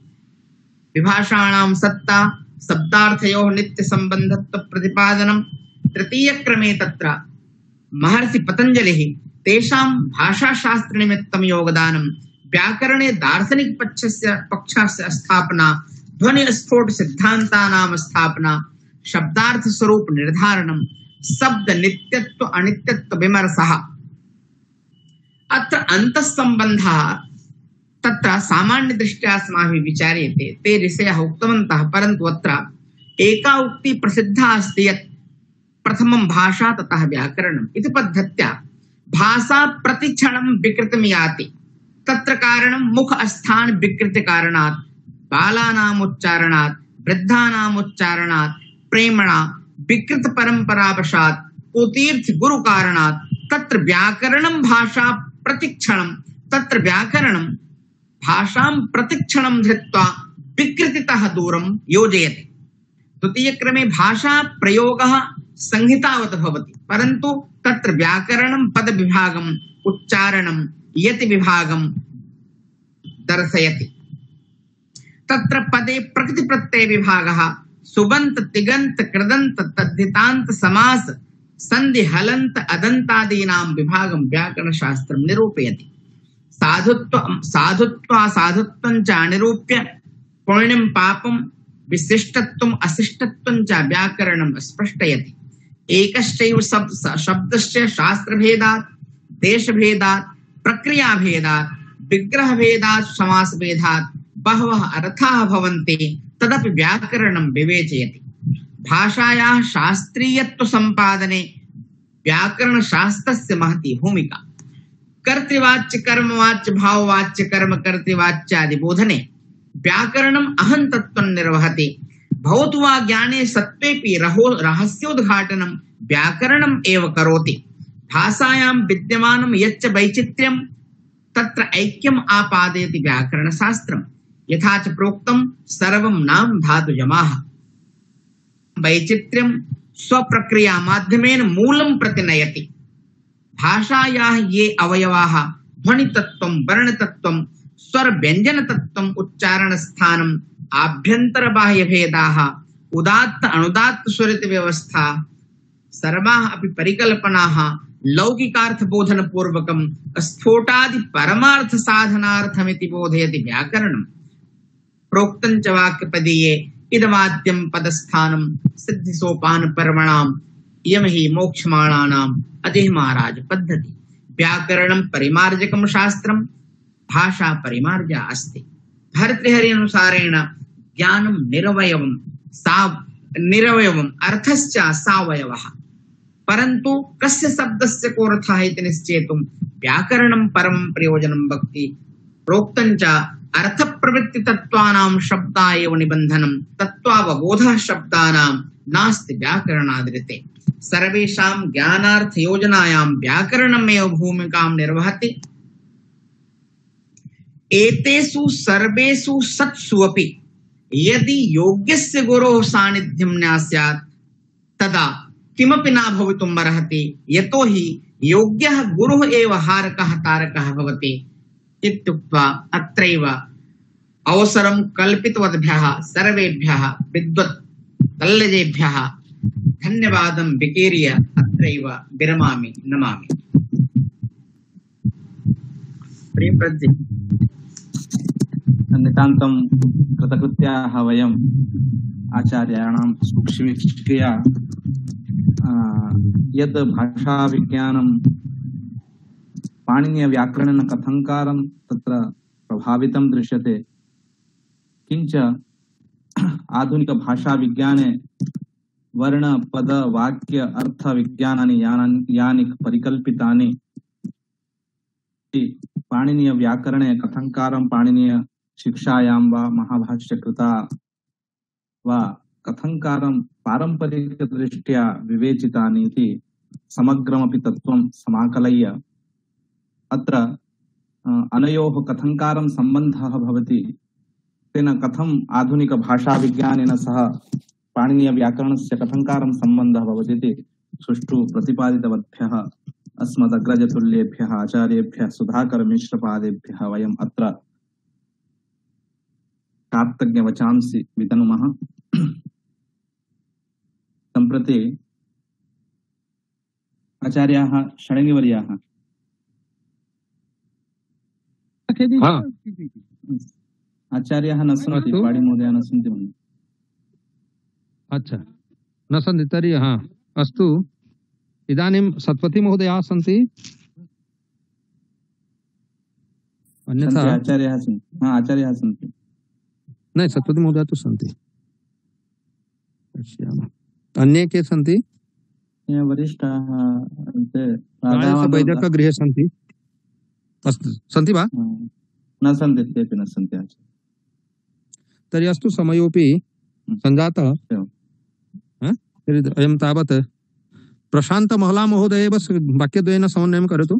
विभाषाणां सत्ता, शब्दार्थयोः नित्य संबंधत्व प्रतिपादनं। तृतीय क्रमे तत्र महर्षि पतंजलिः तेषां भाषाशास्त्र निमित्तं योगदानं, व्याकरणे दार्शनिक पक्षस्य स्थापना, ध्वनि स्फोट सिद्धान्तानां स्थापना, शब्दार्थ स्वरूप निर्धारणं, शब्द नित्यत्व अनित्यत्व विमर्शः। अत्र अंतःसंबन्धः तत्र सामान्य दृष्ट्या अस्माभिः विचार्यते। ते ऋषयः उक्तवन्तः, परन्तु अत्र एका उक्ति प्रसिद्धा अस्ति यत् प्रथमं भाषा ततः व्याकरणम् इति पद्धत्या भाषा प्रतिक्षणं विकृतिं याति। तत्र कारणं मुख स्थान विकृति कारणात्, बालानाम् उच्चारणात्, वृद्धानाम् उच्चारणात्, प्रेमणा विकृत परंपरावशात्, कुतीर्थ गुरु कारणात् तत्र व्याकरणं भाषा प्रतिक्षणं, तत्र व्याकरणं भाषां प्रतिक्षणं धृत्वा विकृतितः दूरं योजयति। द्वितीय क्रमे भाषा प्रयोगः संहितावत् भवति, परन्तु तत्र व्याकरणं पद विभागम्, उच्चारणं, यति विभागं दर्शयति। तत्र पदे प्रकृति प्रत्यय विभागः, सुबंत, तिगंत, कृदंत, तद्धितांत, समास, संधि, हलंत, अदंतादीनां विभागं व्याकरण शास्त्रं निरूपयति। साधुत्वं च निरूप्य पुण्यं पापं विशिष्टत्वं अशिष्टत्वं च व्याकरणं स्पष्टयति। एकश्चैव शब्दस्य शास्त्रभेदात्, देशभेदात्, प्रक्रियाभेदात्, विग्रहभेदात्, समासभेदात् बहवः अर्थाः भवन्ति, तदपि व्याकरणं विवेचयति। भाषायाः शास्त्रीयत्व संपादने व्याकरण शास्त्रस्य महती भूमिका। कर्तृवाच्य, कर्मवाच्य, भाववाच्य, कर्म कर्तृवाच्यादि बोधने व्याकरणम् अहं तत्त्वं निर्वहति। भवतु वा ज्ञाने सत्त्वेपि रहस्योद्घाटनं व्याकरणम् एव करोति। भाषायां विद्यमानं यच्च वैचित्र्यं तत्र ऐक्यम् आपादयति व्याकरणशास्त्रम्। यथा च प्रोक्तं सर्वं नाम धातुजमाः। वैचित्र्यं स्वप्रक्रिया माध्यमेन मूलं प्रति नयति। भाषायाः ये अवयवाः ध्वनितत्त्वं, वर्णतत्त्वं, स्वर व्यंजनतत्त्वं, उच्चारणस्थानम्, आभ्यन्तरबाह्यभेदाः, उदात्त अनुदात्त स्वरित व्यवस्था सर्वाः अपि परिकल्पनाः लौकिकार्थबोधन पूर्वकं स्फोटादि परमार्थ साधनार्थमिति बोधयति व्याकरणं। प्रोक्तं च वाक्यपदीये इदमाद्यं पदस्थानं सिद्धिसोपान पर्वणाम् इयं हि मोक्षमाणानाम् अतिः महाराज पद्धति। व्याकरणं परिमार्जकं शास्त्रं, भाषा परिमार्जा अस्ति। भर्तृहरि अनुसारेण ज्ञानं निरवयवम् अर्थश्च सावयवः। परन्तु कस्य शब्दस्य कोऽर्थः इति निश्चेतुं व्याकरणं परमं प्रयोजनं भक्ति। प्रोक्तं च अर्थप्रवृत्ति तत्त्वानां शब्दा एव निबन्धनं, तत्त्वावबोधः शब्दानां नास्ति व्याकरणादृते। सर्वेषां ज्ञानार्थ योजनायां व्याकरणमेव भूमिकां निर्वहति। एतेषु सर्वेषु सत्सु अपि यदि योग्यस्य गुरोः सान्निध्यं न स्यात् तदा किमपि न भवितुमर्हति, यतो हि योग्यः गुरुः एव हारकः तारकः भवति इत्युक्त्वा अत्रैव अवसरं कल्पितवद्भ्यः सर्वेभ्यः विद्वत् तल्लजेभ्यः धन्यवादं विकीर्य अत्रैव विरमामि। नमामि। प्रियप्रज्ञ नितान्तं कृतकृत्याः वयम् आचार्याणां सूक्ष्मक्रिया यद् भाषाविज्ञानं पाणिनीयव्याकरणेन कथङ्कारं तत्र प्रभावितं दृश्यते, किञ्च आधुनिकभाषाविज्ञाने वर्ण पद वाक्य अर्थ विज्ञानानि यानि परिकल्पितानि पाणिनीय व्याकरणे कथङ्कारं पाणिनीय शिक्षायां वा महाभाष्यकृता वा कथङ्कारं पारम्परिकदृष्ट्या विवेचितानि इति समग्रमपि तत्त्वं समाकलय्य अत्र अनयोः कथङ्कारं सम्बन्धः भवति, तेन कथम् आधुनिकभाषाविज्ञानेन सह पाणिनीयव्याकरणस्य कथङ्कारं सम्बन्धः भवति इति सुष्ठु प्रतिपादितवद्भ्यः अस्मदग्रजतुल्येभ्यः आचार्येभ्यः सुधाकरमिश्रपादेभ्यः वयम् अत्र कार्तज्ञवचांसि वितनुमः। सम्प्रति आचार्याः षडङ्गिवर्याः आचार्याः न सन्ति, पाणि महोदयाः न सन्ति मन्ये। अच्छा, न सन्ति तर्हि अस्तु। इदानीं सत्पथी महोदयाः सन्ति, अन्यथा आचार्याः सन्ति। आचार्याः सन्ति, न सत्पथी महोदयाः तु सन्ति। अन्ये के सन्ति? वरिष्ठाः वैदिकगृहे सन्ति। अस्तु, सन्ति वा? न सन्ति, तेपि न सन्ति। तर्हि अस्तु, समयोपि सञ्जातः। अयं तावत् प्रशान्त महला महोदय एव वाक्यद्वयेन समन्वयं करोतु।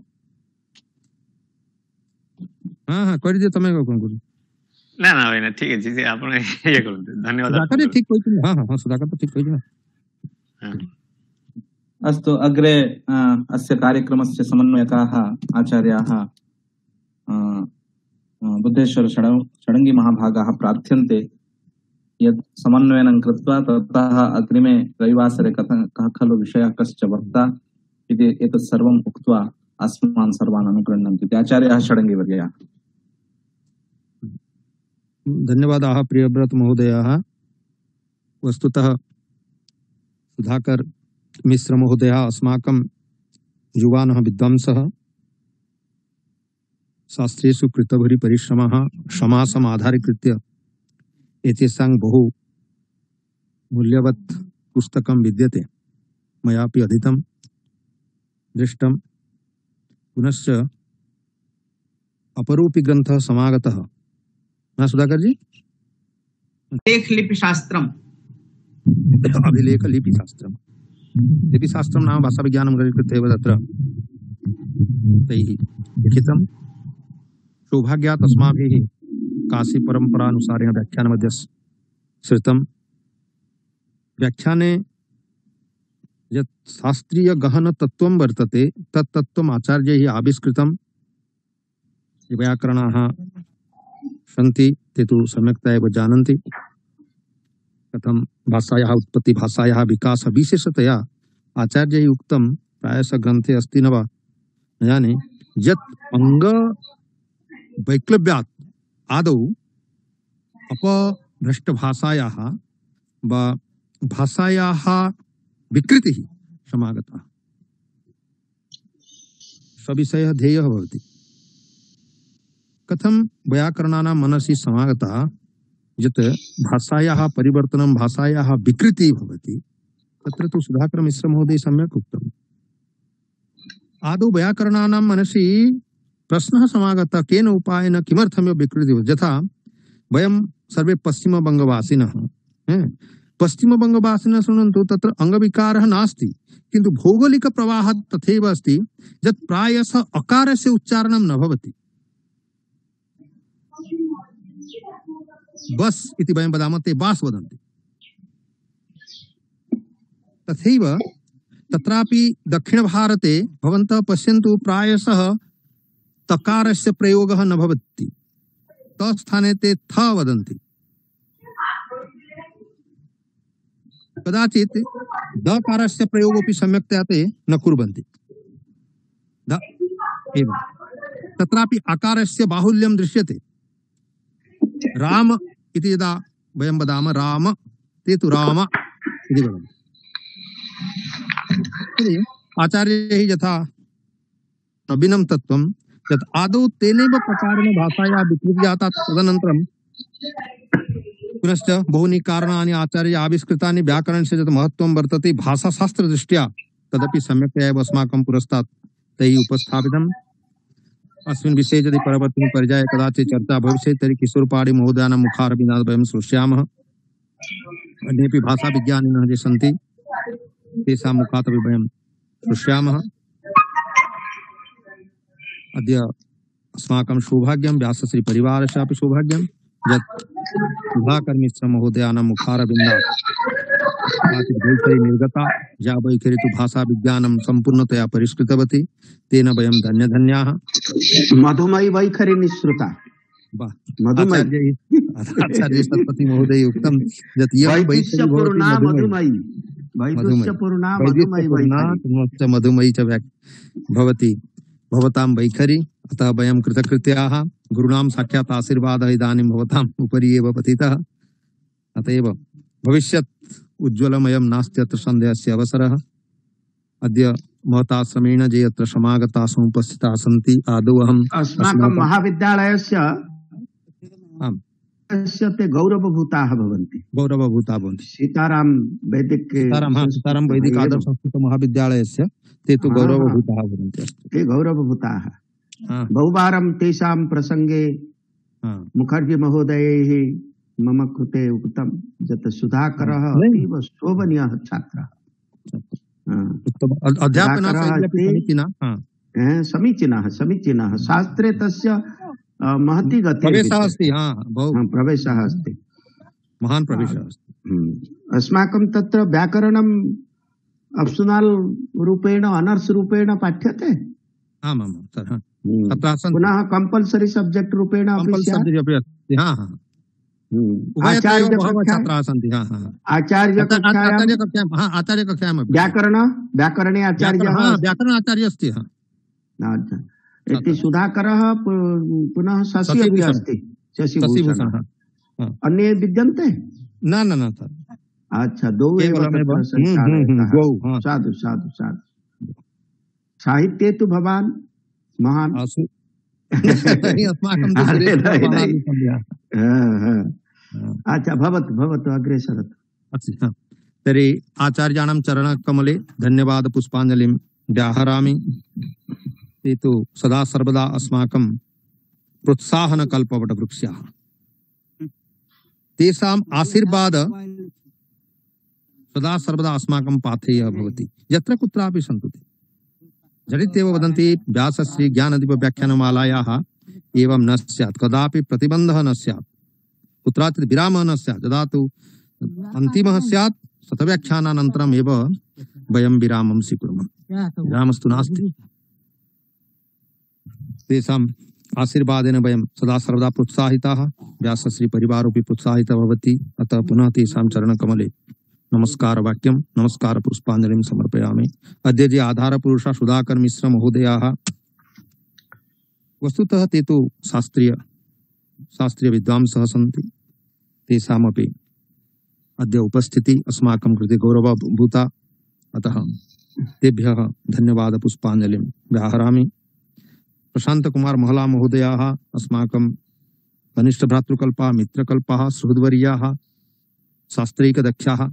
କରିଦିଅ ତମେ କଣ କରୁଛ? ନା ନା ଭାଇନା ଠିକ ଅଛି, ସେ ଆପଣ ଇଏ କରନ୍ତୁ। ଧନ୍ୟବାଦ। ସୁଧାକର ଠିକ କହିଥିଲେ। ସୁଧାକର ତ ଠିକ କହିଥିଲେ। अस्तु, अग्रे अस्य कार्यक्रमस्य समन्वयकाः आचार्याः बुद्धेश्वर षडङ्गी महाभागाः प्रार्थ्यन्ते यत् समन्वयनं कृत्वा ततः अग्रिमे रविवासरे कः खलु विषयः कश्च वक्ता इति एतत् सर्वम् उक्त्वा अस्मान् सर्वान् अनुगृह्णन्ति इति आचार्याः षडङ्गिवर्याः। धन्यवादाः प्रियव्रत महोदयाः। वस्तुतः सुधाकर मिश्र महोदयः अस्माकं युवानः विद्वांसः, शास्त्रेषु कृतभरि परिश्रमः समासम् आधारीकृत्य एतेषां बहु मूल्यवत् पुस्तकं विद्यते। मयापि अधीतं दृष्टं। पुनश्च अपरूपी ग्रन्थः समागतः। न सुधाकर जी? लिपिशास्त्रम्, अभिलेख लिपिशास्त्रम्। लिपिशास्त्रं नाम भाषाविज्ञानं कृत्य एव तत्र तैः लिखितं। सौभाग्यात् अस्माभिः काशी परम्परानुसारेण व्याख्यानमध्ये श्रुतं। व्याख्याने यत् शास्त्रीय गहन तत्त्वं वर्तते तत् तत्त्वम् आचार्यैः आविष्कृतं। व्याकरणाः सन्ति, ते तु सम्यक्तया एव जानन्ति। कथम भाषायाः उत्पत्ति भाषायाः विकास विशेषतया आचार्यैः उक्तं प्रायशः ग्रन्थे अस्ति न वा न जाने यत् अंग वैक्लव्यात् आदौ अपभ्रष्टभाषायाः वा भाषायाः विकृतिः समागता सविषयः ध्येयः भवति। कथं वैयाकरणानां मनसि समागता यत् भाषायाः परिवर्तनं भाषायाः विकृतिः भवति तत्र तु सुधाकर मिश्र महोदय सम्यक् उक्तम्। आदौ वैयाकरणानां मनसि प्रश्नः समागतः केन उपायेन किमर्थमेव विकृतिः यथा वयं सर्वे पश्चिमबङ्गवासिनः पश्चिमबङ्गवासिनः शृण्वन्तु तत्र अङ्गविकारः नास्ति किन्तु भौगोलिकप्रवाहः तथैव अस्ति यत् प्रायशः अकारस्य उच्चारणं न भवति। बस् इति वयं वदामः ते बास् वदन्ति तथैव तत्रापि दक्षिणभारते भवन्तः पश्यन्तु प्रायशः तकारस्य प्रयोगः न भवति तस्थाने ते थ वदन्ति कदाचित् दकारस्य प्रयोगोऽपि सम्यक्तया ते न कुर्वन्ति एवं तत्रापि आकारस्य बाहुल्यं दृश्यते। राम इति यदा वयं वदामः राम ते तु राम इति वदन्ति। आचार्यैः यथा नवीनं तत्त्वं यत् आदौ तेनैव प्रकारेण भाषायाः विकृतिः जाता तदनन्तरं पुनश्च बहूनि कारणानि आचार्य आविष्कृतानि व्याकरणस्य यत् महत्त्वं वर्तते भाषाशास्त्रदृष्ट्या तदपि सम्यक्तया एव अस्माकं पुरस्तात् तैः उपस्थापितम्। अस्मिन् विषये यदि परवर्तिनि पर्याये कदाचित् चर्चा भविष्यति तर्हि किशोरपाणि महोदयानां मुखारविन्दात् वयं श्रोष्यामः। अन्येपि भाषाविज्ञानिनः ये सन्ति तेषां मुखात् अपि वयं श्रोष्यामः। अद्य अस्माकं सौभाग्यं व्यासश्रीपरिवारस्यापि सौभाग्यं यत् सुधाकर मिश्र महोदयानां मुखारविन्दात् वैखरी निर्गता या वैखरी तु भाषाविज्ञानं सम्पूर्णतया परिष्कृतवती तेन वयं धन्यधन्याः। मधुमयी वैखरी निःसृता आचार्य सत्पति महोदय उक्तं यत् मधुमयी च भवति भवतां वैखरी अतः वयं कृतकृत्याः गुरूणां साक्षात् आशीर्वादः इदानीं भवताम् उपरि एव पतितः अतएव भविष्यत् उज्ज्वलमयं नास्ति अत्र सन्देहस्य अवसरः। अद्य महताश्रमेण ये अत्र समागताः समुपस्थिताः सन्ति आदौ अहम् अस्माकं महाविद्यालयस्य ते गौरवभूताः भवन्ति सीताराम वैदिक आदर्श संस्कृत महाविद्यालयस्य ते तु गौरवभूताः भवन्ति ते गौरवभूताः। बहुवारं तेषां प्रसङ्गे मुखर्जी महोदयैः मम कृते उक्तं यत् सुधाकरः अतीव शोभनीयः छात्रः समीचीनः शास्त्रे तस्य महती गतिः प्रवेशः अस्ति महान् प्रवेशः अस्ति। अस्माकं तत्र व्याकरणम् ऑप्शनल रूपेण ऑनर्स रूपेण पाठ्यते आमां सर पुनः कंपल्सरी सब्जेक्ट रूपेण आचार्य कक्षायां व्याकरणे आचार्य अस्ति। इति सुधाकरः पुनः शशि अपि अस्ति शशिभूषणः अन्ये विद्यन्ते न सर अच्छा दो साधु साधु साधु साहित्ये तु भवान् महान् अच्छा भवतु अग्रे सरतु। तर्हि आचार्याणां चरणकमले धन्यवाद पुष्पाञ्जलिं व्याहरामि। ते तु सदा सर्वदा अस्माकं प्रोत्साहनकल्पवटवृक्षाः तेषाम् आशीर्वाद सदा सर्वदा अस्माकं पाथेयः भवति यत्र कुत्रापि सन्तु ते झटित्येव वदन्ति व्यासश्री ज्ञानदीप व्याख्यानमालायाः एवं न स्यात् कदापि प्रतिबन्धः न स्यात् कुत्राचित् विरामः न स्यात् यदा तु अन्तिमः स्यात् शतव्याख्यानानन्तरम् एव वयं विरामं स्वीकुर्मः विरामस्तु नास्ति। तेषां आशीर्वादेन वयं सदा सर्वदा प्रोत्साहिताः व्यासश्री परिवारोऽपि प्रोत्साहितः भवति अतः पुनः तेषां चरणकमले नमस्कार वाक्यं नमस्कार पुष्पाञ्जलिं समर्पयामि। अद्य ये आधारपुरुषा सुधाकर मिश्र महोदयाः वस्तुतः ते तु शास्त्रीय विद्वांसः सन्ति, तेषामपि अद्य उपस्थिति अस्माकं कृते गौरवभूता, अतः तेभ्यः धन्यवाद पुष्पाञ्जलिं व्याहरामि। प्रशांत कुमार महला महोदयाः अस्माकं कनिष्ठ भ्रातृकल्पाः मित्रकल्पाः सुहृद्वर्याः शास्त्रैकदक्षाः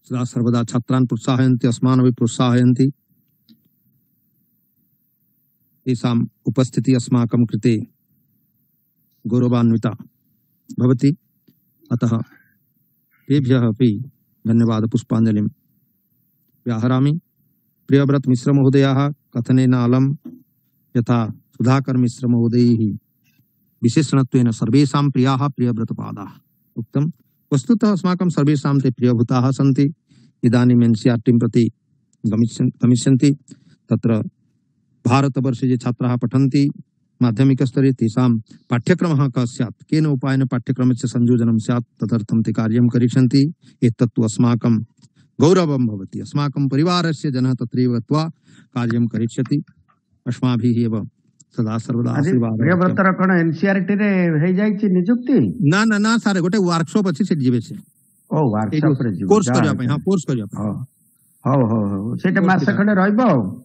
सदा सर्वदा छात्रान् प्रोत्साहयन्ति, अस्मानपि प्रोत्साहयन्ति। तेषाम् उपस्थितिः अस्माकं कृते गौरवान्विता भवति, अतः तेभ्यः अपि धन्यवाद पुष्पाञ्जलिं व्याहरामि। प्रियव्रत मिश्र महोदयाः कथनेन अलम् यथा सुधाकर मिश्र महोदयैः विशेषणत्वेन सर्वेषां प्रियाः प्रियव्रतपादाः उक्तम्। वस्तुतः अस्माकं सर्वेषां ते प्रियभूताः सन्ति। इदानीम् एनसीईआरटीं प्रति गमिष्यन्ति, तत्र भारतवर्षे ये छात्राः पठन्ति माध्यमिकस्तरे तेषां पाठ्यक्रमः कः स्यात्, केन उपायेन पाठ्यक्रमस्य संयोजनं स्यात्, तदर्थं ते कार्यं करिष्यन्ति। एतत्तु अस्माकं गौरवं भवति। अस्माकं परिवारस्य जनः तत्रैव गत्वा कार्यं करिष्यति। अस्माभिः एव सदा सर्वदा आशीर्वाद। प्रियव्रतर कोन एनसीईआरटी रे हे जाइछि नियुक्ति? ना ना ना सारे गोटे वर्कशॉप अछि से जीवे से। ओ वर्कशॉप रे जीव कोर्स करिया पे, हां कोर्स करिया पे। हो हो हो सेटे मास खंडे रहइबो।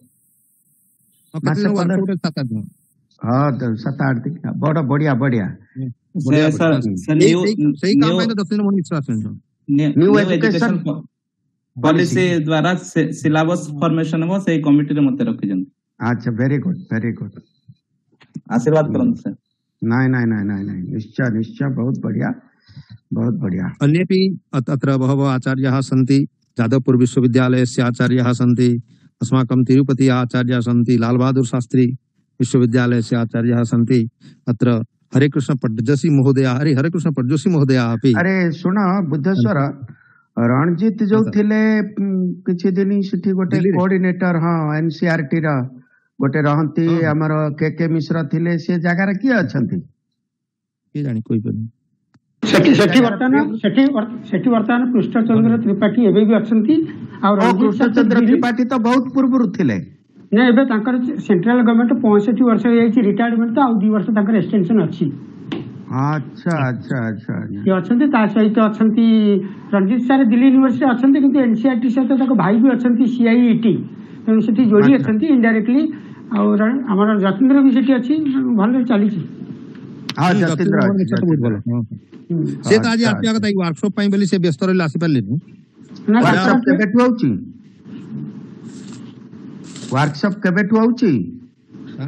मासे वर्कशॉप 7-8 दिन। हां 7-8 दिन बड़ा बढ़िया बढ़िया। सर सही काम है तो 10 दिन मन विश्वास है। न्यू एजुकेशन पॉलिसी द्वारा सिलेबस फॉर्मेशन हो से कमिटी रे मते रखि जन। अच्छा वेरी गुड आशीर्वाद करन सर। नहीं निश्चय निश्चय बहुत बढ़िया। अन्येपि अत्र बहवः आचार्याः सन्ति। जादवपुर विश्वविद्यालयस्य आचार्याः सन्ति, अस्माकं तिरुपति आचार्याः सन्ति, लाल बहादुर शास्त्री विश्वविद्यालयस्य आचार्याः सन्ति। अत्र हरेकृष्ण पट्टजोशी महोदयाः अपि। अरे सुन बुद्धेश्वर रणजीत जो थिले किछि दिन सिठी गोटे कोऑर्डिनेटर हां एनसीईआरटी रा गोटे रहंती हमर के मिश्र थिले से जगह रे की अछंती के जानि कोई पनि सेठी वर्तमान कृष्णचंद्र त्रिपाठी एबे भी अछंती और कृष्णचंद्र त्रिपाठी तो बहुत पूर्व थिले ने एबे तांकर सेंट्रल गवर्नमेंट 65 वर्ष होई रिटायरमेंट तो आ 2 वर्ष तांकर एक्सटेंशन अछि। अच्छा ये अछंती ता सहित अछंती रणजीत सर दिल्ली यूनिवर्सिटी अछंती किंतु एनसीईआरटी सहित ताको भाई भी अछंती सीआईईटी तेणु सेठी जोड़ी अछंती इनडायरेक्टली और हमर जतेंद्र भी सेठी अछि भले चली छी। हां जतेंद्र बहुत भलो से त आज आपिया कथा वर्कशॉप पई बेली से व्यस्त रहले आसी परले ना वर्कशॉप केबेटु आउची वर्कशॉप केबेटु आउची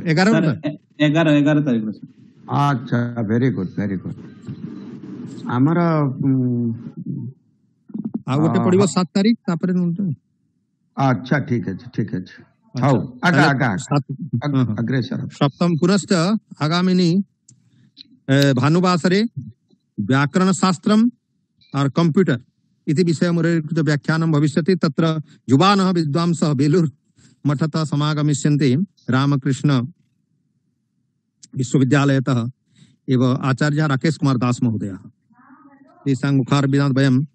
11 तारिख रे। अच्छा वेरी गुड हमर आ गोटे पड़िबो 7 तारिख तापरे न। अच्छा ठीक है हाउ आगा अग्रेसर सप्तम पुनश्च आगामिनी भानुवासरे व्याकरण शास्त्रम और कंप्यूटर इति विषयमुरेकृत व्याख्यानं भविष्यति। तत्र युवानः विद्वांसः बेलूर मठतः समागमिष्यन्ति। रामकृष्ण विश्वविद्यालयतः एव आचार्य राकेश कुमार दास महोदयः। तेषां मुखारविन्दात् वयम्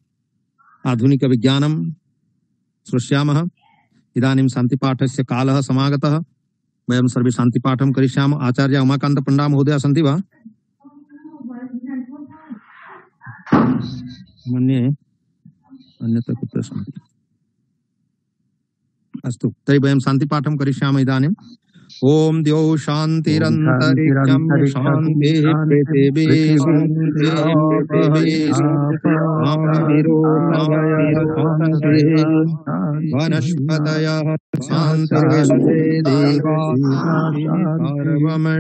आधुनिक विज्ञानं श्रोष्यामः। इदानीं शान्तिपाठस्य कालः समागतः। वयं सर्वे शान्तिपाठं करिष्यामः। आचार्य उमाकान्त पण्डा महोदयः सन्ति वा? मन्ये अन्यत्र कुत्र सन्ति। अस्तु तर्हि वयं शान्तिपाठं करिष्यामः इदानीम्। ओम द्यौ शान्तिरन्तरिक्षं शान्तिः पृथिवी शान्तिः वनस्पतयः सर्वं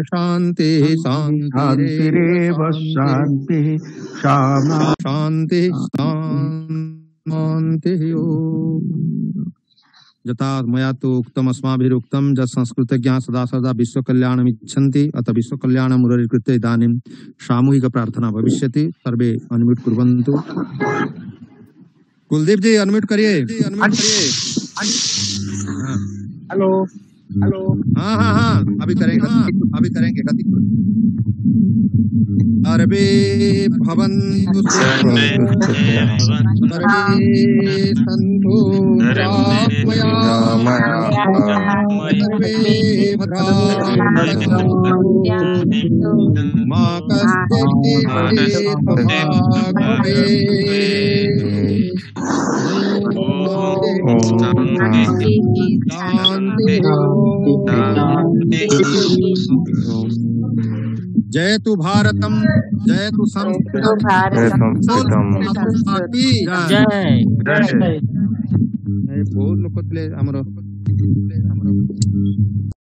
शान्तिः शान्तिरेव शान्तिः शान्तिः शान्तिः। यथा मया तो उक्तम अस्माभिरुक्तम जत् संस्कृतज्ञाः सदा सदा विश्वकल्याणमिच्छन्ति अतः विश्वकल्याणं मुररीकृत्य इदानीं सामूहिक प्रार्थना भविष्यति। सर्वे अनम्यूट कुर्वन्तु। कुलदीप जी अनम्यूट करिए। हेलो हाँ हाँ हाँ अभी करेंगे गति सर्वे भवन्तु सर्वे सन्तु सर्वे भद्राणि मा कश्चित् जयतु भारतम जयतु संस्कृतम जय बहुत लोक ଥିଲେ ଆମର